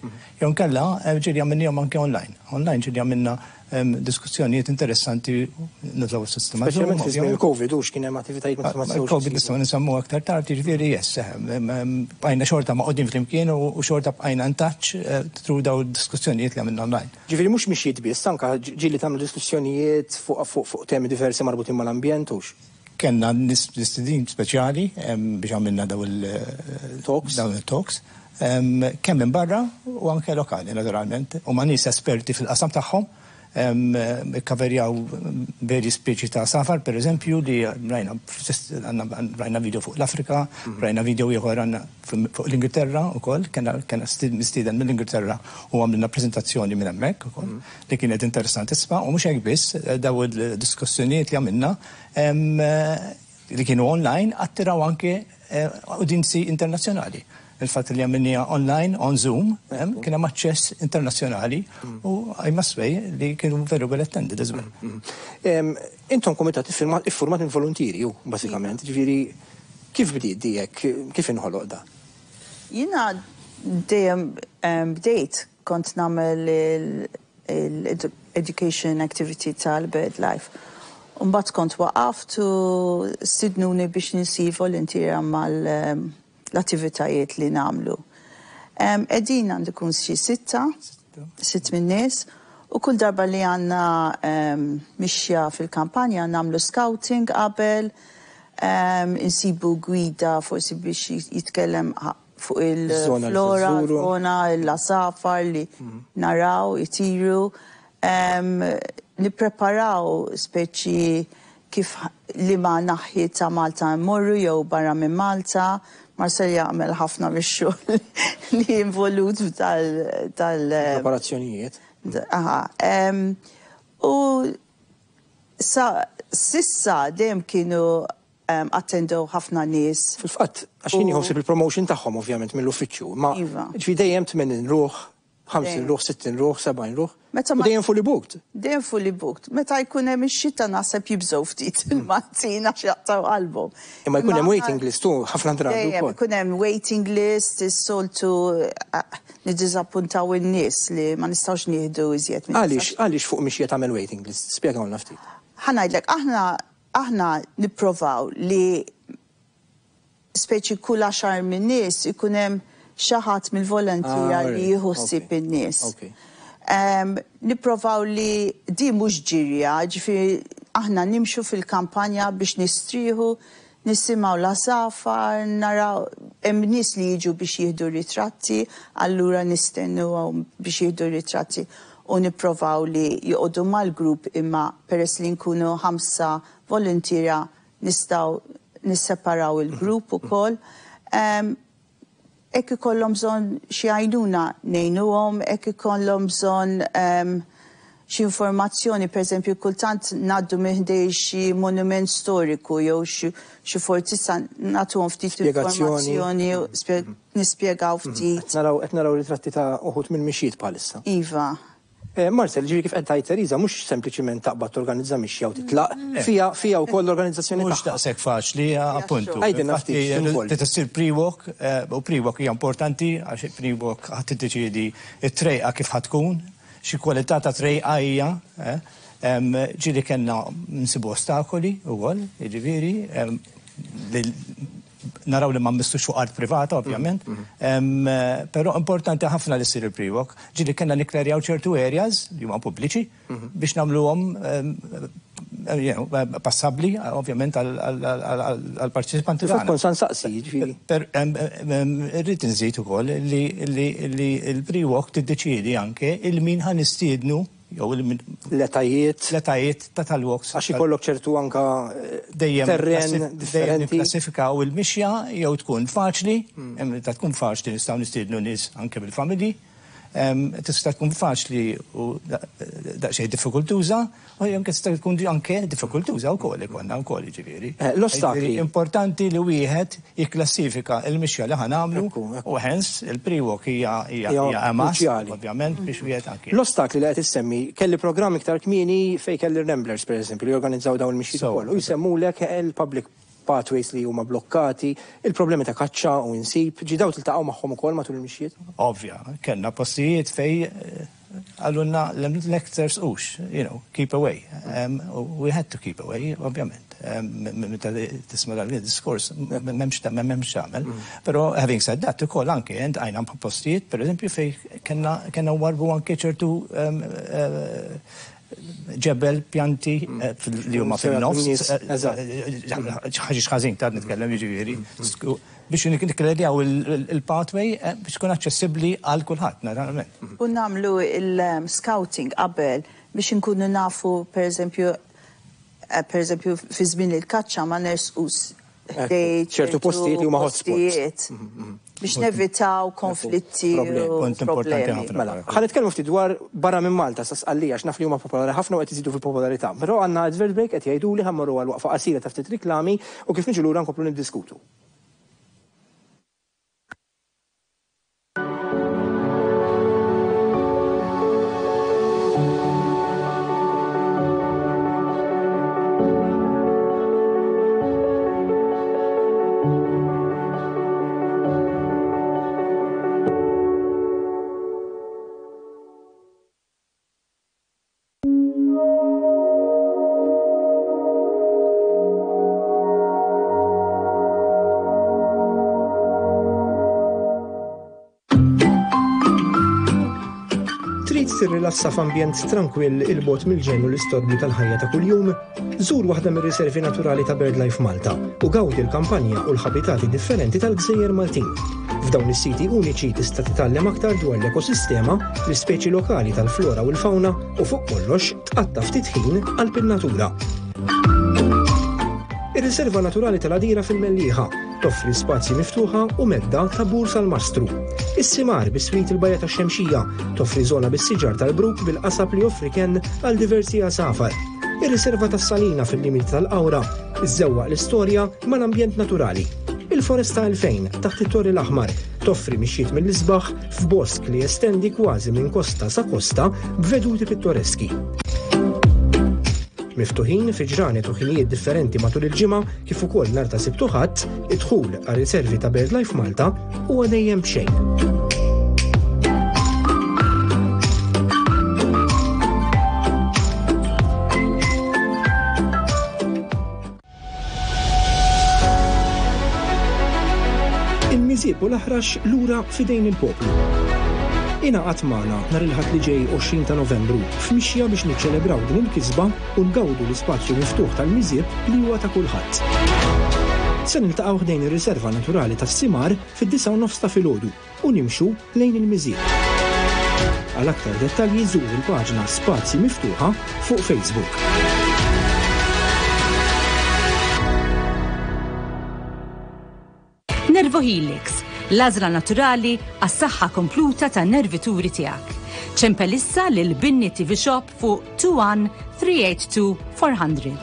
Jew nkella eh, ġieli għamilnihom anke online. Online ġieli għamilna em, diskussjonijiet interessanti, nużaw is-sistema. Speċjalment Zoom, fi żmien ovvjament. il-Covid, hux kien hemm attivitajiet ma ma setgħux Covid isiru. nistgħu nsemmu aktar tard, jiġifieri yes, eh, em, em, bqajna xorta magħqudin flimkien u u xorta bqajna in touch eh, through daw diskussjonijiet li għamilna online. Ġifieri mhux mixjiet biss, anka ġieli tagħmlu diskussjonijiet fuq fuq fuq temi diversi marbutin mal-ambjent, hux? Kellna mistednin speċjali em, biex għamilna daw il-talks, daw il-talks, em, kemm minn barra u anke lokali naturalment, u ma' nies esperti fil-qasam tagħhom, em, ikkaverjaw veri speċi ta' għasafar, per eżempju, li rajna, għandna rajna video fuq l-Afrika, rajna video ieħor għandna fuq l-Ingilterra ukoll, kellna kellna mistieden mill-Ingilterra u għamilna prezentazzjoni minn hemmhekk ukoll, li kienet interessantissima, u mhux hekk biss, daw il-diskussjonijiet li għamilna em, li kienu online attiraw anke eh, udjenzi internazzjonali. Il-fatt li għamilniha online, on Zoom, em, kien hemm aċċess internazzjonali u I must say li kienu very well attended as well. Em, Intom komitat iffirmat iffurmat minn volontieri, ju, basikament. Ġifieri, kif bdiet dijek, kif inħoloq da? Jiena dejjem em, bdejt kont nagħmel il-education activity tal-BirdLife. Mbagħad kont waqaft u stidnuni biex insir volontiera mal em, l-attivitajiet li nagħmlu. Em, Qegħdin għandu kun xi sitta, sitt minn nies, u kull darba li għandna em, mixja fil-kampanja nagħmlu scouting qabel, em, insibu gwida forsi biex jitkellem ħa- fuq Iż-żona li il-flora, żżuru. l-fauna, l-għasafar li naraw, itiru. Em, Nippreparaw speċi kif li ma naħi ta' Malta mmorru jew barra minn Malta. Marcel jagħmel ħafna mix-xogħol li involut tal tal Preparazzjonijiet. Aha. em, U sa s'issa dejjem kienu um, attendew ħafna nies. Fil-fatt, għax jien jħossib il-promotion tagħhom ovvjament mill-uffiċċju, ma Iva. ġifieri dejjem tmenin ruħ, ħamsin Dejjem. ruħ, sittin ruħ, sebgħin ruħ. Meta U ma- dejjem fully booked. Dejjem fully booked. Meta jkun hemm ix-xita naħseb jibżgħu ftit il-Maltin għax jaqtaw qalbhom. Imma jkun hemm Imma- waiting list tu ħafna drabi Dejjem wkoll. ikun hemm waiting list, is-soltu eh, niddiżappuntaw in-nies li ma nistgħux nieħdu iżjed minn Għaliex, għaliex fuq mixja tagħmel waiting list? Spjegawna ftit. Ħa ngħidlek, aħna aħna nipprovaw li speċi kull għaxar minn nies ikun hemm xi ħadd mill-volontiera Ah, li alright. jieħu ħsieb Okay. in-nies. Okay. Um, nipprovaw li di mhux ġirja, ġifieri aħna nimxu fil-kampanja biex nistrieħu, nisimgħu l-għasafar, naraw hemm nies li jiġu biex jieħdu ritratti, allura nistennu biex jieħdu ritratti u nipprovaw li joqogħdu mal-grupp, imma peress li nkunu ħamsa volontiera nistgħu nisseparaw il-grupp ukoll. Um, Jekk ikollhom bżonn xi għajnuna ngħinuhom, jekk ikollhom bżonn um, xi informazzjoni, per eżempju, kultant ngħaddu minn ħdejn xi monument storiku jew xi xi fortizza, nagħtuhom ftit Spjegazzjoni. informazzjoni, spje- nispjegaw ftit. Qed naraw qed naraw ritratti ta' uħud minn mixjiet bħalissa. Iva. Eh, Marcel, ġifieri kif qed tgħid Teresa, mhux sempliċiment taqbad torganizza mixja u titlaq, fija fija wkoll l-organizzazzjoni Mhux tagħha. daqshekk faċli, appuntu. Għidilna ftit Infatti, x'involvi. Trid issir pre-walk, eh, u pre-walk hija importanti għax pre-walk ħadd tiddeċiedi it-trejqa kif ħa tkun, xi kwalità ta' trejqa hija, eh, em, ġieli kellna nsibu ostakoli wkoll, jiġifieri, em, li naraw li ma mmissux fuq art privata, ovvjament. Em, eh, Però importanti ħafna li ssir il-pre-walk. Ġieli kellna nikklerjaw ċertu areas li huma pubbliċi biex nagħmluhom em, eh, you know, eh, passabbli, ovvjament, għal-parteċipanti. Fil-fatt kont sa nsaqsi, ġifieri. Per, em, em, irrid nżid ukoll li li li il-pre-walk tiddeċiedi anke il-min ħa nistiednu jew il-min L-etajiet. L-etajiet ta' tal-walks. Għax ikollok ċertu anka eh, Dejjem terren klassi- dejjem differenti. Niklassifikaw il-mixja jew tkun faċli, hemm ta' tkun faċli nistgħu nistiednu nies anke bil-familji. Em, Tista' tkun faċli u da- daqsxejn diffikultuża, u anke tista' tkun anke diffikultuża wkoll ikollna wkoll jiġifieri. Eh, l-ostakli. Jiġifieri Importanti li wieħed jikklassifika il-mixja li ħa nagħmlu u hence il-pre-walk hija hija Hija hija a must, kruċjali. ovvjament, biex wieħed anke. L-ostakli li qed issemmi, kelli programm iktar kmieni fej kelli Ramblers, per eżempju, li jorganizzaw dawn il-mixjiet ukoll. U jsemmulek il-public pathways li huma blokkati, il-problemi ta' kaċċa u insib, ġi daw tiltaqgħu magħhom ukoll matul il-mixjiet? Ovvja, kellna postijiet fej eh, qalulna l tersqux, you know, keep away. Um, we had to keep away, ovvjament. Um, Meta tisma' dan il-diskors, m'hemmx m'hemmx tagħmel. Però having said that, ukoll anke iltqajna postijiet, per eżempju, fej kellna kellna warbu anke ċertu um, uh, ġebel pjanti eh, fil- li huma fil-nofs. Ħaġiġ ħażin ta' nitkellem jiġifieri. Biex nikklerjaw il-pathway eh, biex tkun aċċessibbli għal kulħadd, naturalment. U nagħmlu il-scouting qabel biex nkunu nafu, per eżempju, eh, per eżempju, fi żmien il-kaċċa ma nersqux ħdej ċertu postijiet li huma hotspots. postijiet biex nevitaw konflitti u problemi. Mela, ħa nitkellmu ftit dwar barra minn Malta sa Sqallija għax naf li huma popolari ħafna u qed iżidu fil-popolarità. Però għandna advert break qed jgħidu li ħa mmorru għal waqfa qasira ta' ftit riklami u kif niġu lura nkomplu niddiskutu. Trid tirrilassa f'ambjent trankwill 'il bogħod mill-ġenn u l-istorbju tal-ħajja ta' kuljum? Żur waħda mir-riservi naturali ta' BirdLife Malta u gawdi l-kampanja u l-ħabitati differenti tal-Gżejjer Maltin. F'dawn is-siti uniċi tista' titgħallem aktar dwar l-ekosistema, l-ispeċi lokali tal-flora u l-fauna u fuq kollox tqatta' ftit ħin qalb in-natura. Ir-riserva naturali tal-Għadira fil-Mellieħa toffri spazji miftuħa u medda ta' Bur Salmastru. Is-Simar biswit il-Bajja ta' Xemxija toffri żona bis-siġar tal-bruk bil-qasab li joffri ken għal diversi għasafar. Ir-riserva tas-Salina fil-limiti tal-Qawra iżżewwaq l-istorja mal-ambjent naturali. Il-Foresta elfejn taħt it-Torri l-Aħmar toffri mixjiet mill-isbaħ f'bosk li jestendi kważi minn kosta sa kosta b'veduti pittoreski. Miftuħin fi ġranet u ħinijiet differenti matul il-ġimgħa kif ukoll nhar ta' Sibt u Ħadd, id-dħul għal riservi ta' BirdLife Malta huwa dejjem b'xejn. Il-Miżieb u l-Aħrax lura f'idejn il-poplu. Ingħaqad magħna nhar il-Ħadd li ġej għoxrin ta' Novembru f'mixja biex niċċelebraw din il-kisba u ngawdu l-ispazju miftuħ tal-Miżieb li huwa ta' kulħadd. Se niltaqgħu ħdejn ir-riserva naturali tas-Simar fid-disgħa u nofs ta' filgħodu u nimxu lejn il-Miżieb. Għal aktar dettalji żur il-paġna Spazji Miftuħa fuq Facebook. Nervohelix, l-għażla naturali għas-saħħa kompluta tan-nervituri tiegħek. Ċempel issa lil Binni T V Shop fuq two one three eight two four hundred.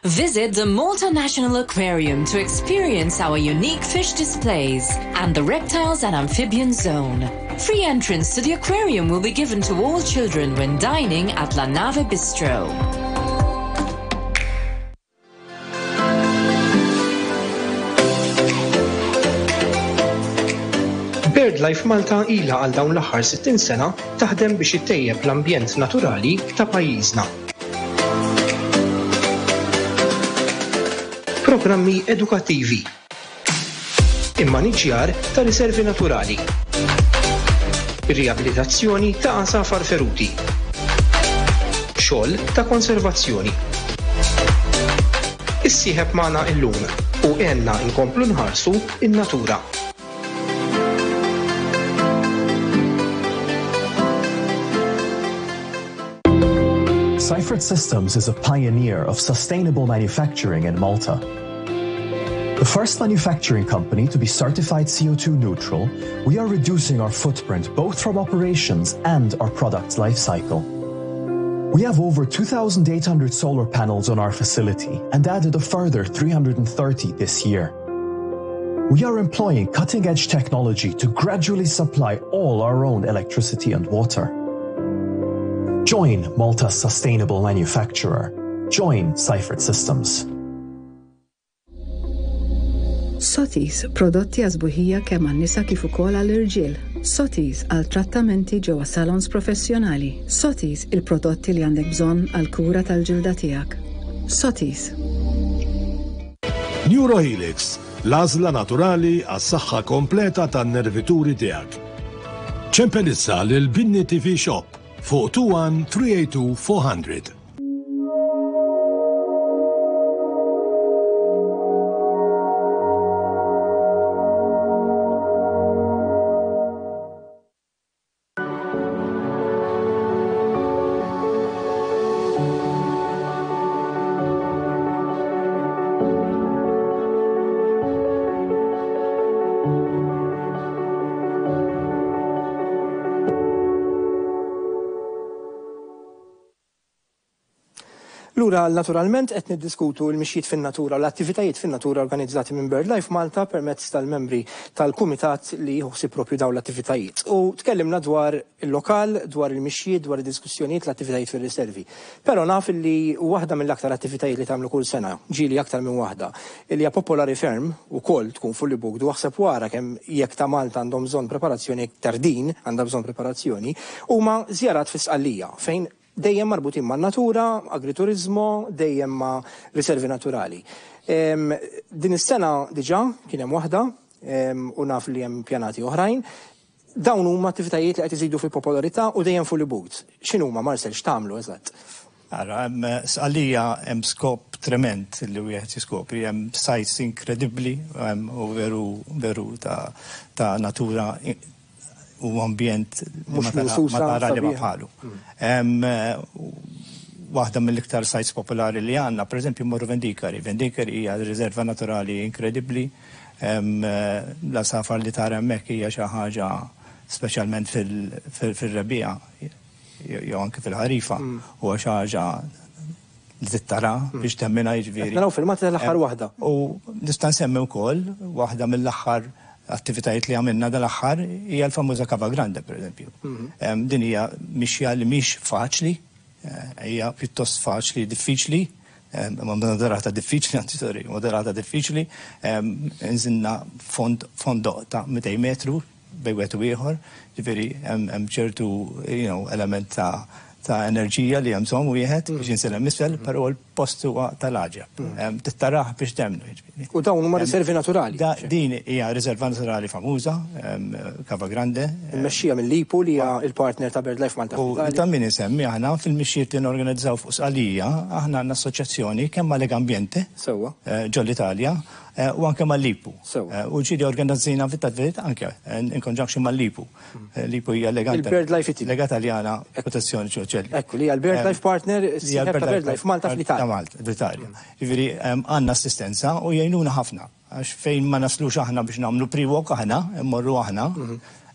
Visit the Malta National Aquarium to experience our unique fish displays and the reptiles and amphibian zone. Free entrance to the aquarium will be given to all children when dining at La Nave Bistro. BirdLife Malta ilha għal dawn l-aħħar sittin sena taħdem biex ittejjeb l-ambjent naturali ta' pajjiżna. Programmi edukattivi. Immaniġjar ta' riservi naturali. Riabilitazzjoni ta' għasafar feruti. Xogħol ta' konservazzjoni. Issieħeb magħna illum u għenna nkomplu nħarsu in-natura. Seifert Systems is a pioneer of sustainable manufacturing in Malta. The first manufacturing company to be certified C O two neutral, we are reducing our footprint both from operations and our product's life cycle. We have over two thousand eight hundred solar panels on our facility and added a further three hundred thirty this year. We are employing cutting-edge technology to gradually supply all our own electricity and water. Join Malta's sustainable manufacturer. Join Seifert Systems. Sotis, prodotti għas-sbuħija kemm għan-nisa kif ukoll għall-irġiel. Sotis għal trattamenti ġewwa salons professjonali. Sotis, il-prodotti li għandek bżonn għal kura tal-ġilda tiegħek. Sotis. Neurohelix, l-għażla naturali għas-saħħa kompleta tan-nervituri tiegħek. Ċempel issa lil Binni T V Shop fuq tnejn wieħed tlieta tlieta tnejn erba' mitt. Lura naturalment qed niddiskutu l-mixjiet fin-natura u l-attivitajiet fin-natura organizzati minn BirdLife Malta permezz tal-membri tal-kumitat li jħossib propju dawn l-attivitajiet. U tkellimna dwar il-lokal, dwar il-mixjiet, dwar id-diskussjonijiet, l-attivitajiet fir-riservi. Però naf li waħda mill-aktar attivitajiet li tagħmlu kull sena, ġieli aktar minn waħda, li hija popolari ferm ukoll tkun fully booked u aħseb wara kemm jekk ta' Malta għandhom bżonn preparazzjoni, iktar din għandha bżonn preparazzjoni, huma żjarat fi Sqallija fejn dejjem marbutin ma' natura, agriturizmo, dejjem ma' riservi naturali. Em, din is-sena diġà kien hemm waħda em, u naf li hemm pjanati oħrajn. Dawn huma attivitajiet li qed iżidu fil-popolarità u dejjem fully booked. X'inhuma, Marcel, x'tagħmlu eżatt? Ara, hemm Sqallija hemm skop trement li wieħed jiskopri, hemm sites inkredibbli hemm u veru veru ta' ta' natura u ambjent li Mhux ma tara- minsusa, ma tara li ma sabiħa. bħalu. Hemm, eh, Waħda mill-iktar sites popolari li għandna, per eżempju, morru Vendicari. Vendicari hija riserva naturali inkredibbli. Hemm, eh, L-għasafar li tara hemmhekk hija xi ħaġa speċjalment fil- fil- fil-rebbiegħa jew anke fil-ħarifa huwa xi ħaġa li tittara biex temmina, jiġifieri. Qed naraw filmati tal-aħħar waħda. U nista' nsemmi wkoll waħda mill-aħħar attivitajiet li għamilna dal-aħħar hija l-famuża Cava Grande, per eżempju. Em, Din hija mixja li mhix faċli, eh, hija pjuttost faċli, diffiċli, em, ma moderata diffiċli, anzi sorry, moderata diffiċli, em, nżilna fond fondoq ta' mitejn metru bejn wieħed u ieħor, ġifieri hemm hemm ċertu you know, element ta' ta' enerġija li hemm bżonn wieħed biex jinżel hemm isfel, però l-post huwa tal-għaġeb. Em, Tittarah biex temmnu, jiġifieri. U dawn huma riservi naturali. Da, din hija riserva naturali famuża, em, Cava Grande. Immexxija mill-LIPU li hija il-partner ta' BirdLife Malta. U fl-Italja. ta' min insemmi aħna fil-mixjiet li norganizzaw fuq Sqallija, aħna għandna assoċjazzjoni kemm ma' Legambiente Sewwa. eh, ġol-Italja eh, u anke mal-LIPU. Sewwa. Eh, U ġieli organizzina fit-tadviet anke eh, in conjunction mal-LIPU. Eh, LIPU hija Lega Il-BirdLife Italy. Lega Taljana Protezzjoni Ċoċelli. Ekku li hija l-BirdLife partner, Hija sieħeb ta' BirdLife Malta Ta' fl-Italja. Malta, fl-Italja. Ġifieri em, għandna assistenza u jgħinuna ħafna. Għax fejn ma naslux aħna biex nagħmlu pre-walk aħna, immorru aħna,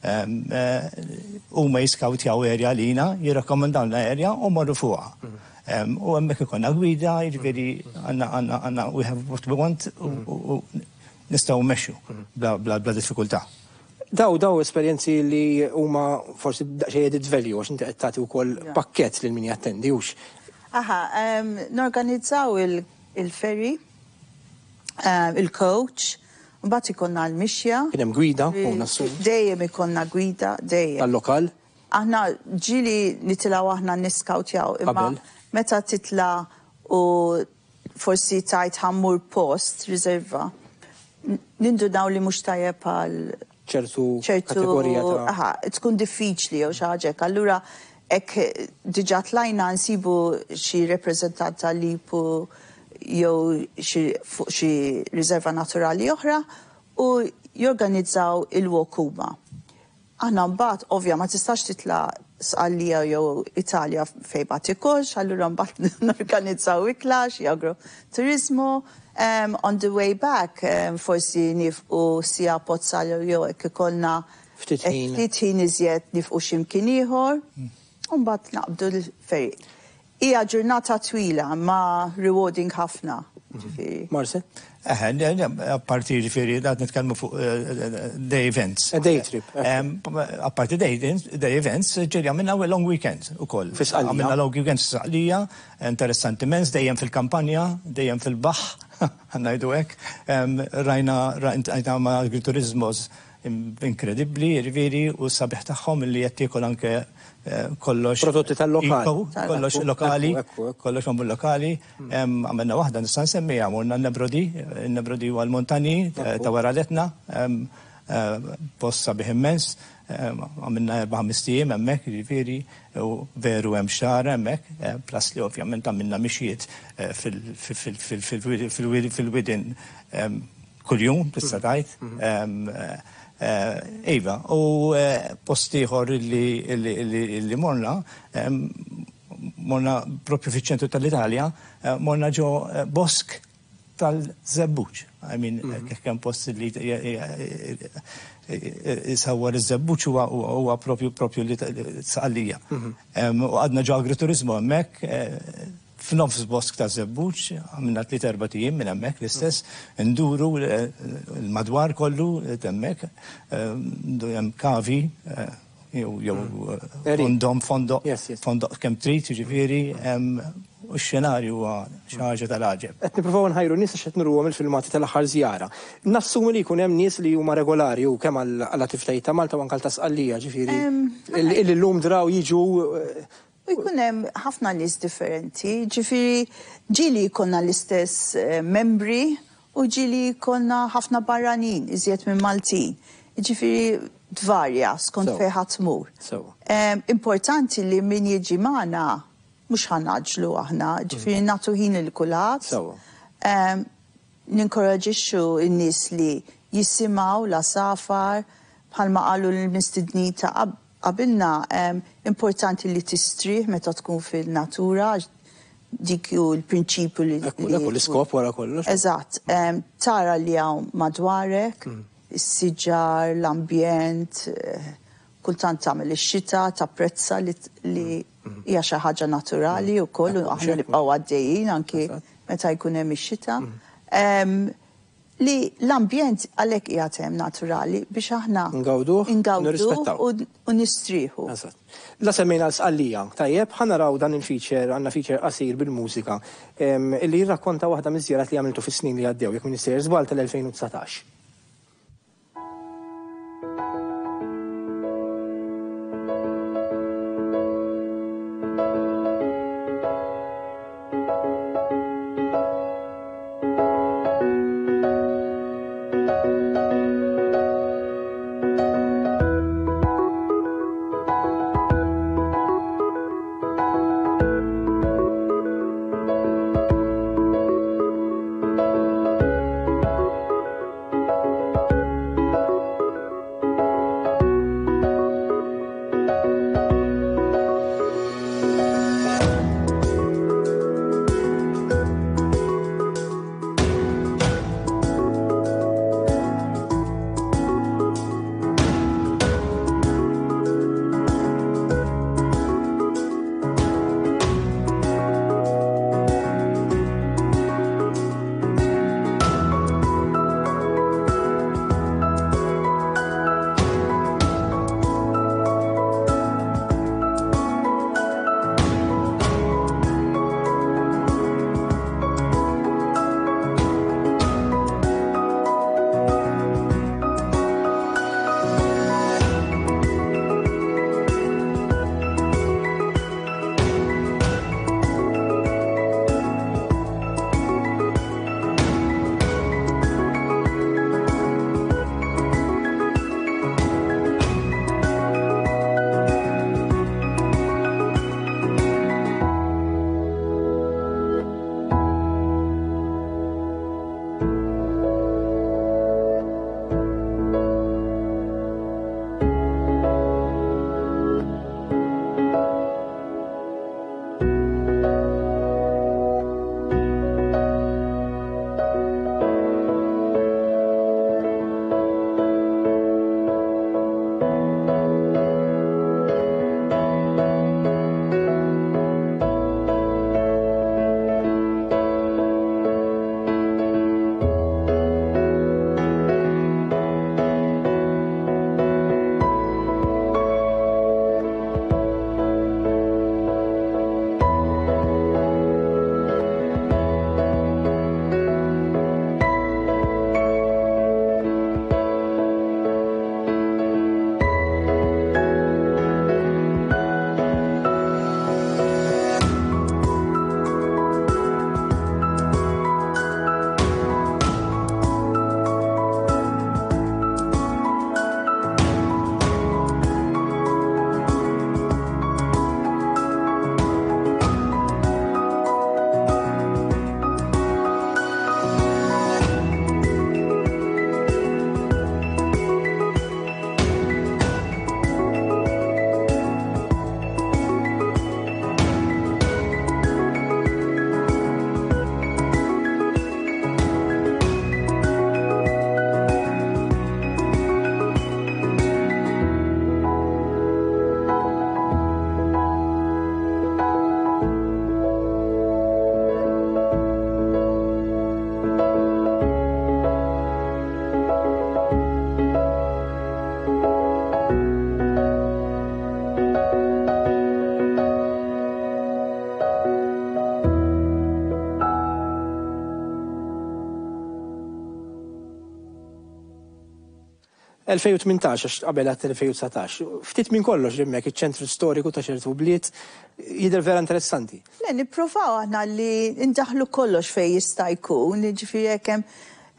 em, eh, huma jiskautjaw area lina, jirrakkomandawna area u morru fuqha. Em, U hemmhekk ikollna gwida, jiġifieri għandna għandna għandna we have what we want u u- u nistgħu mmexxu bla bla bla diffikultà. Daw daw esperjenzi li huma forsi daqsxejn added value għax inti qed tagħti wkoll pakkett lil min jattendi hux. Aha, um, norganizzaw il- il-ferry, um, il-coach, mbagħad ikollna l-mixja. Kien hemm gwida u nassu Dejjem ikollna gwida, dejjem. tal-lokal. Aħna ġieli nitilgħu aħna niskautjaw, imma Qabel. meta titla u forsi tajt ħa mmur post, riserva, n- nindunaw li mhux tajjeb għal ċertu ċertu kategorija ta' aha, tkun diffiċli jew xi ħaġa hekk. Allura hekk diġà tlajna nsibu xi rappreżentant tal-LIPU jew xi fuq xi riserva naturali oħra u jorganizzaw il-walk huma. Aħna mbagħad ovvja ma tistax titla' Sqallija jew Italja fejn ma tikolx, allura mbagħad norganizzaw ikla xi agroturismo. Um, on the way back, um, forsi nieqfu sija Pozzallo jew hekk ikollna Ftit ħin. ftit ħin iżjed nieqfu x'imkien ieħor, u mbagħad naqbdu l-ferry. Hija ġurnata twila ma rewarding ħafna. Ġifieri. Marcel? Eħe, apparti ġifieri, qed nitkellmu fuq eh, day events. A day trip. Em, Apparti day, day events, ġieli għamilna long weekends ukoll. Fi Sqallija. Għamilna long weekends fi Sqallija, interessanti immens, dejjem fil-kampanja, dejjem fil-baħ. Ngħidu hekk. Rajna rajna ma' agriturismos inkredibbli, jiġifieri, u sabiħ tagħhom li qed tiekol anke kollox. Prodotti tal-lokal. Kollox lokali, kollox magħmul lokali. Għamilna waħda nista' nsemmiha, morna n-Nebrodi, n-Nebrodi huwa l-Montanji ta' wara l-Etna, post sabiħ immens. Għamilna erba' ħamest ijiem hemmhekk, jiġifieri, u veru hemm xagħar hemmhekk, plus li ovvjament għamilna mixjiet fil-widien kuljum, tista' tgħid. Iva, u post ieħor li morna, morna propju fiċ-ċentru tal-Italja, morna ġo bosk tal-żebbuġ. I mean, kemm post li jisawwar iż-żebbuġ huwa propju propju li Sqallija. U għadna ġo agriturismo hemmhekk, f'nofs bosk ta' żebbuġ, għamilna tliet erba' ijiem minn hemmhekk l-istess, nduru l-madwar kollu hemmhekk, hemm kavi, jew fondom, fondoq, fondoq kemm trid, jiġifieri, u x-xenarju huwa xi ħaġa tal-għaġeb. Qed nippruvaw nħajru nies għax qed nuruhom il-filmati tal-aħħar żjara. Nassumi li jkun hemm nies li huma regolari u kemm għall-attivitajiet ta' Malta u anke ta' Sqallija, ġifieri illi llum draw jiġu. U jkun hemm ħafna nies differenti, ġifieri ġieli jkollna l-istess membri u ġieli jkollna ħafna barranin iżjed minn Maltin. Ġifieri tvarja skont fejn ħadd tmur. Importanti li min jiġi magħna mhux ħa naġlu aħna, ġifieri nagħtu ħin lil kulħadd. Ninkoraġixxu n-nies li jisimgħu l-għasafar bħalma qalu l-mistednin ta' qabilna, importanti li tistrieħ meta tkun fil-natura, dik hu l-prinċipju li. Ekku, l-iskop wara kollox. Eżatt, tara li hawn madwarek, is-siġar, l-ambjent, kultant tagħmel ix-xita, tapprezza li hija xi ħaġa naturali wkoll u aħna nibqgħu għaddejjin anki meta jkun hemm ix-xita. Li l-ambjent għalhekk qiegħed hemm naturali biex aħna ngawduh u nistrieħu. La semmejna l-Sqallija, tajjeb, ħa naraw dan il-feature, għandna feature qasir bil-mużika, illi jirrakkonta waħda miż-żjarat li għamiltu fis-snin li għaddew, jekk m'iniex sejjer żball tal-elfejn u dsatax. Thank elfejn u tmintax, għax qabel għat elfejn u dsatax. Ftit minn kollox hemmhekk, iċ-ċentru storiku ta' ċertu bliet jidher vera interessanti. Le, nippruvaw aħna li ndaħlu kollox fej jista' jkun, ġifieri jekk hemm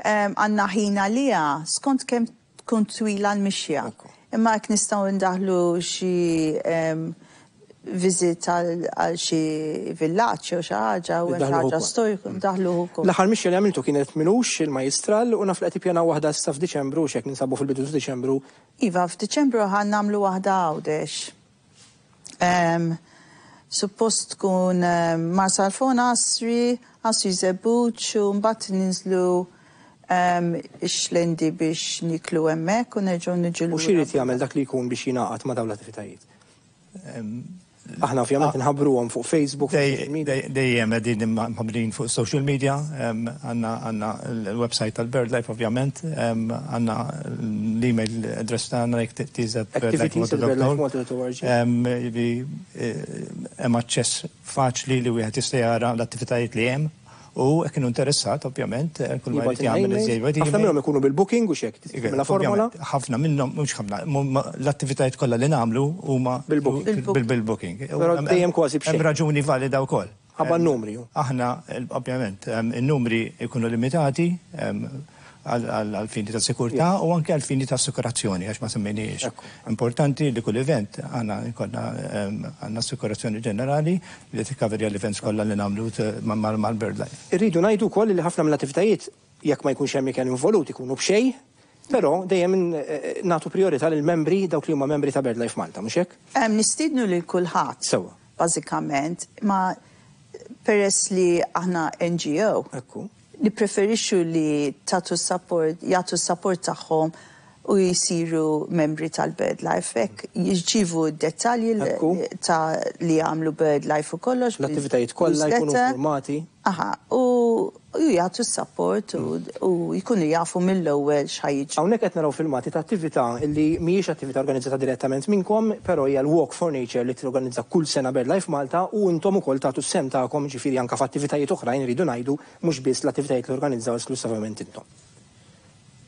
em, għandna ħin għaliha, skont kemm tkun twila l-mixja. Imma jekk nistgħu ndaħlu xi em, visit għal għal xi villaġġ jew xi ħaġa u hemm xi Ndaħluh ħaġa ukoll. storiku, ndaħlu ukoll. L-aħħar mixja li għamiltu kienet m'ilux il-Majjistral u naf li qed ippjanaw waħda issa f'Diċembru, xek ninsabu fil-bidu ta' Diċembru. Iva, f'Diċembru ħa nagħmlu waħda Għawdex. Um, suppost tkun um, Marsalforn, Għasri, Għasri Żebbuġ u mbagħad ninżlu um, ix-Xlendi biex niklu hemmhekk u nerġgħu niġu U x'irid jagħmel dak li jkun biex jingħaqad ma' dawn l-attivitajiet? Aħna ovvjament nħabbruhom fuq Facebook, fuq social media. Dejjem qegħdin mħabbrin fuq social media, em, għandna għandna l-website tal-BirdLife ovvjament, em, għandna l-email address tagħna Activities at birdlifemalta dot org. Hemm aċċess faċli li wieħed jista' jara l-attivitajiet li hemm u jekk inhu interessat ovvjament eh, kull ma Jibgħat jrid jagħmel email. iżjed Ħafna minnhom ikunu bil-booking u xek, mela formola. Ovvjament, ħafna minnhom, mhux ħafna, mu- l-attivitajiet kollha li nagħmlu huma Bil-booking. bil-booking. Però Hemm- dejjem kważi b'xejn. Hemm raġuni valida wkoll. Ħabba n-numri. Aħna, eh, ovvjament, em, in-numri jkunu limitati em, għal għal fini ta' sikurtà u anke għal fini ta' assikurazzjoni, għax ma semmejniex. Importanti li kull event għandna jkollna em, għandna assikurazzjoni ġenerali li tikkaverja l-events kollha li nagħmlu t- ma- ma- mal-BirdLife. Irridu ngħidu wkoll li ħafna mill-attivitajiet, jekk ma jkunx hemm ikel involut, ikunu b'xejn, però dejjem eh, nagħtu priorità lil membri, dawk li huma membri ta' BirdLife Malta, mhux hekk? Em, Nistiednu lil kulħadd. Sewwa. Bażikament, ma peress li aħna N G O. Ekku. Nipreferixxu li tagħtu support, jagħtu support tagħhom u jisiru membri tal-BirdLife. Hekk jirċivu d-dettalji li- ta' li għamlu BirdLife u kollox. L-attivitajiet kollha jkunu newsletter. informati. Aha, u u jagħtu support u, u jkunu jafu mill-ewwel x'ħa jiġri. Hawnhekk qed naraw filmati ta' attività li mhijiex attività organizzata direttament minnkom, però hija l-Walk for Nature li torganizza kull sena BirdLife Malta u intom ukoll tagħtu s-sehem tagħkom, ġifieri anke f'attivitajiet oħrajn, iridu ngħidu, mhux biss l-attivitajiet li organizzaw esklusivament intom.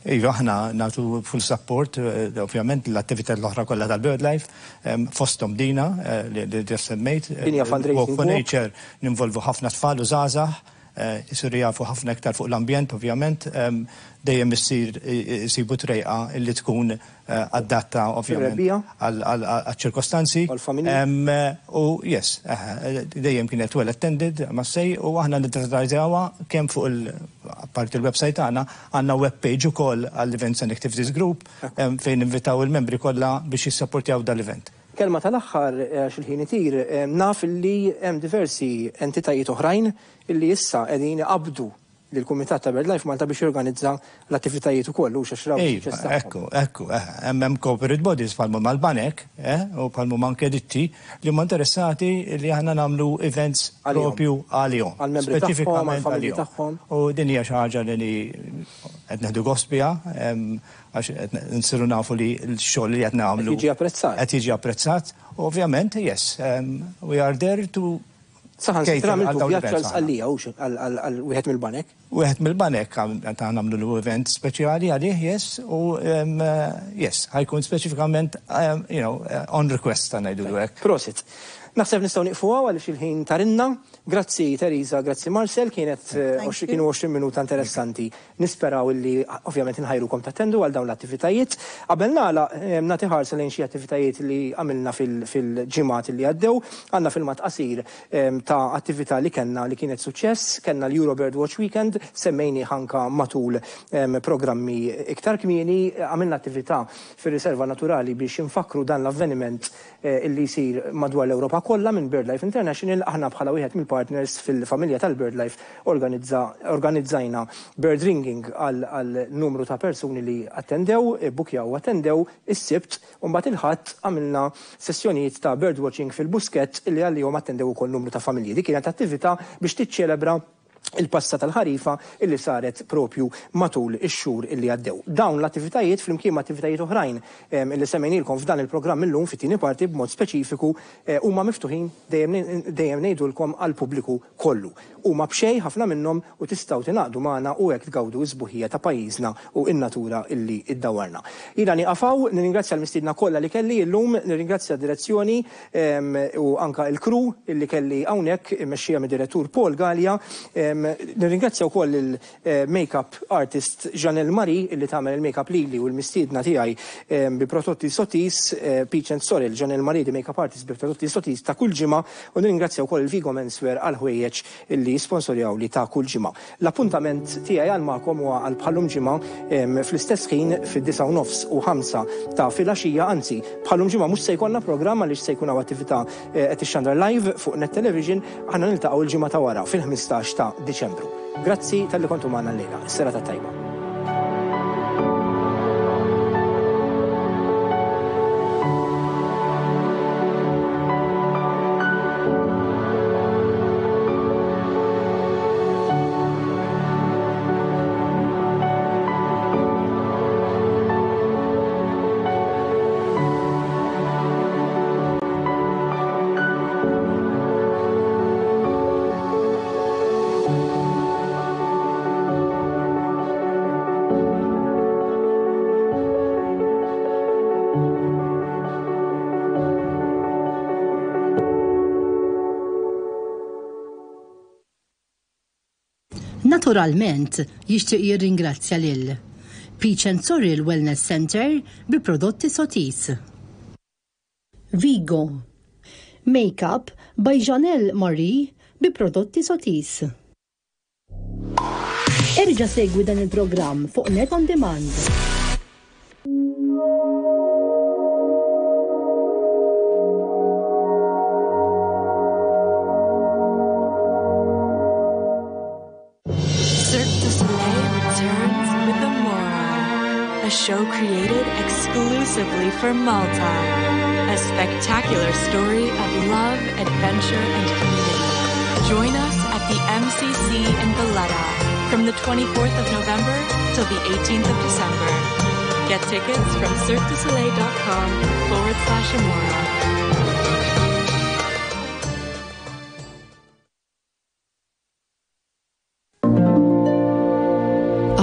Iva, aħna nagħtu full support, eh, ovvjament, l-attività l-oħra kollha tal-BirdLife, em, fosthom dina eh, li li ġa semmejt. Din hija fundraising Walk for walk. Nature, ninvolvu ħafna tfal u żgħażagħ, eh, isiru jafu ħafna iktar fuq l-ambjent, ovvjament, em, dejjem issir isibu trejqa illi tkun eh, adatta ovvjament Fir-rebbiegħa? għal-ċirkostanzi. Em, U yes, eh, dejjem kienet well attended, ma sej, u aħna nidadvertizjawha kemm fuq il parti il-website tagħna, għandna web page ukoll għall-Events and Activities Group em, fejn invitaw il-membri kollha biex jissapportjaw dal-event. Kelma tal-aħħar, eh, għax il-ħin itir, eh, naf li hemm diversi entitajiet oħrajn illi issa qegħdin iqabdu lill-Kumitat ta' BirdLife Malta biex jorganizza l-attivitajiet ukoll u xax raw Ejva, suċċess tagħhom. Ekku, ekku, eh, hemm hemm corporate bodies bħalma mal-banek, eh, u bħalma anke ditti li huma interessati li aħna nagħmlu events Għalihom. propju għalihom. Għal-membri tagħhom, Speċifikament għall-familji għalihom. tagħhom. U din hija xi ħaġa li qed neħdu gost biha, em, għax qed nsiru nafu li l-xogħol li qed nagħmlu Qed jiġi apprezzat. Qed jiġi apprezzat. U ovvjament, yes, um, we are there to Saħansitra cater għal għamiltu dawn vjaġġ l-events għal aħna. Sqallija u għal għal wieħed mill-banek. Wieħed mill-banek ta' nagħmlu l-event speċjali għalih, yes, u um, uh, yes, ħa jkun speċifikament, um, you know, uh, on request ta' ngħidu hekk. Prosit. Naħseb nistgħu nieqfu hawn għaliex il-ħin tarinna. Grazzi Teresa, grazzi Marcel, kienet eh, Thank għoxri- you. kienu għoxrin minuta interessanti. Nisperaw illi ovvjament nħajrukom tattendu għal dawn l-attivitajiet. Qabel nagħlaq, eh, nagħti ħarsa lejn xi attivitajiet li għamilna fil- fil-ġimgħat li għaddew. Għandna filmat qasir em, ta' attività li kellna li kienet suċċess, kellna l-Eurobird Watch Weekend, semmejni anka matul em, programmi iktar kmieni, għamilna attività fir-riserva naturali biex infakru dan l-avveniment eh, illi jsir madwar l-Ewropa kollha minn BirdLife International. Aħna bħala wieħed mill-partners fil-familja tal-BirdLife organizza, organizzajna bird ringing għal, għal numru ta' persuni li attendew, bukjaw u attendew is-Sibt, u mbagħad il-Ħadd għamilna sessjonijiet ta' birdwatching fil-Buskett illi għalihom attendew ukoll numru ta' familji. Dik kienet attività biex tiċċelebra Il-passa tal-ħarifa illi saret propju matul ix-xhur illi għaddew. Dawn l-attivitajiet flimkien ma' attivitajiet oħrajn illi semmejnilkom f'dan il-programm illum fit-tieni parti b'mod speċifiku eh, huma miftuħin dejjem ngħidulkom għall-pubbliku kollu. Huma b'xejn ħafna minnhom u tistgħu tingħaqdu magħna u hekk tgawdu s-sbuħija ta' pajjiżna u n-natura illi iddawwarna. Jiena nieqaf hawn, nirringrazzja l-mistiedna kollha li kelli illum, nirringrazzja d-direzzjoni u anka il-crew illi kelli hawnhekk immexxija mid-direttur Paul Gallia. Nirringrazzja wkoll il-makeup artist Janelle Marie illi tagħmel il-makeup lili u l-mistiedna tiegħi bi prodotti Sotis, Peach and Sorrel, Janelle Marie di makeup artist bi prodotti Sotis ta' kull ġimgħa, u nirringrazzja wkoll il-Vigo Menswear għal ħwejjeġ illi sponsorjaw li ta' kull ġimgħa. L-appuntament tiegħi għal magħkom huwa għal bħal-lum ġimgħa fl-istess ħin fid-disgħa u nofs u ħamsa ta' filgħaxija, anzi bħal-lum ġimgħa mhux se jkollna programm għaliex se jkun hawn attività qed tixxandar live fuq Net Television, aħna niltaqgħu l-ġimgħa ta' wara fil-ħmistax ta' Diċembru. Grazzi talli kontu magħna llejla. Is-serata tajba. Naturalment, jixtieq jirringrazzja lil Peach and Sorrel Wellness Center bi prodotti Sotis. Vigo. Makeup by Janelle Marie bi prodotti Sotis. Erġa' segwi dan il-programm fuq Net On Demand. Cirque du Soleil returns with Amora, a show created exclusively for Malta. A spectacular story of love, adventure, and community. Join us at the M C C in Valletta from the twenty-fourth of November till the eighteenth of December. Get tickets from cirquedusoleil dot com forward slash Amora.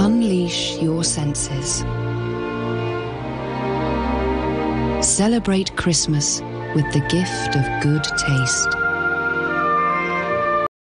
Unleash your senses. Celebrate Christmas with the gift of good taste.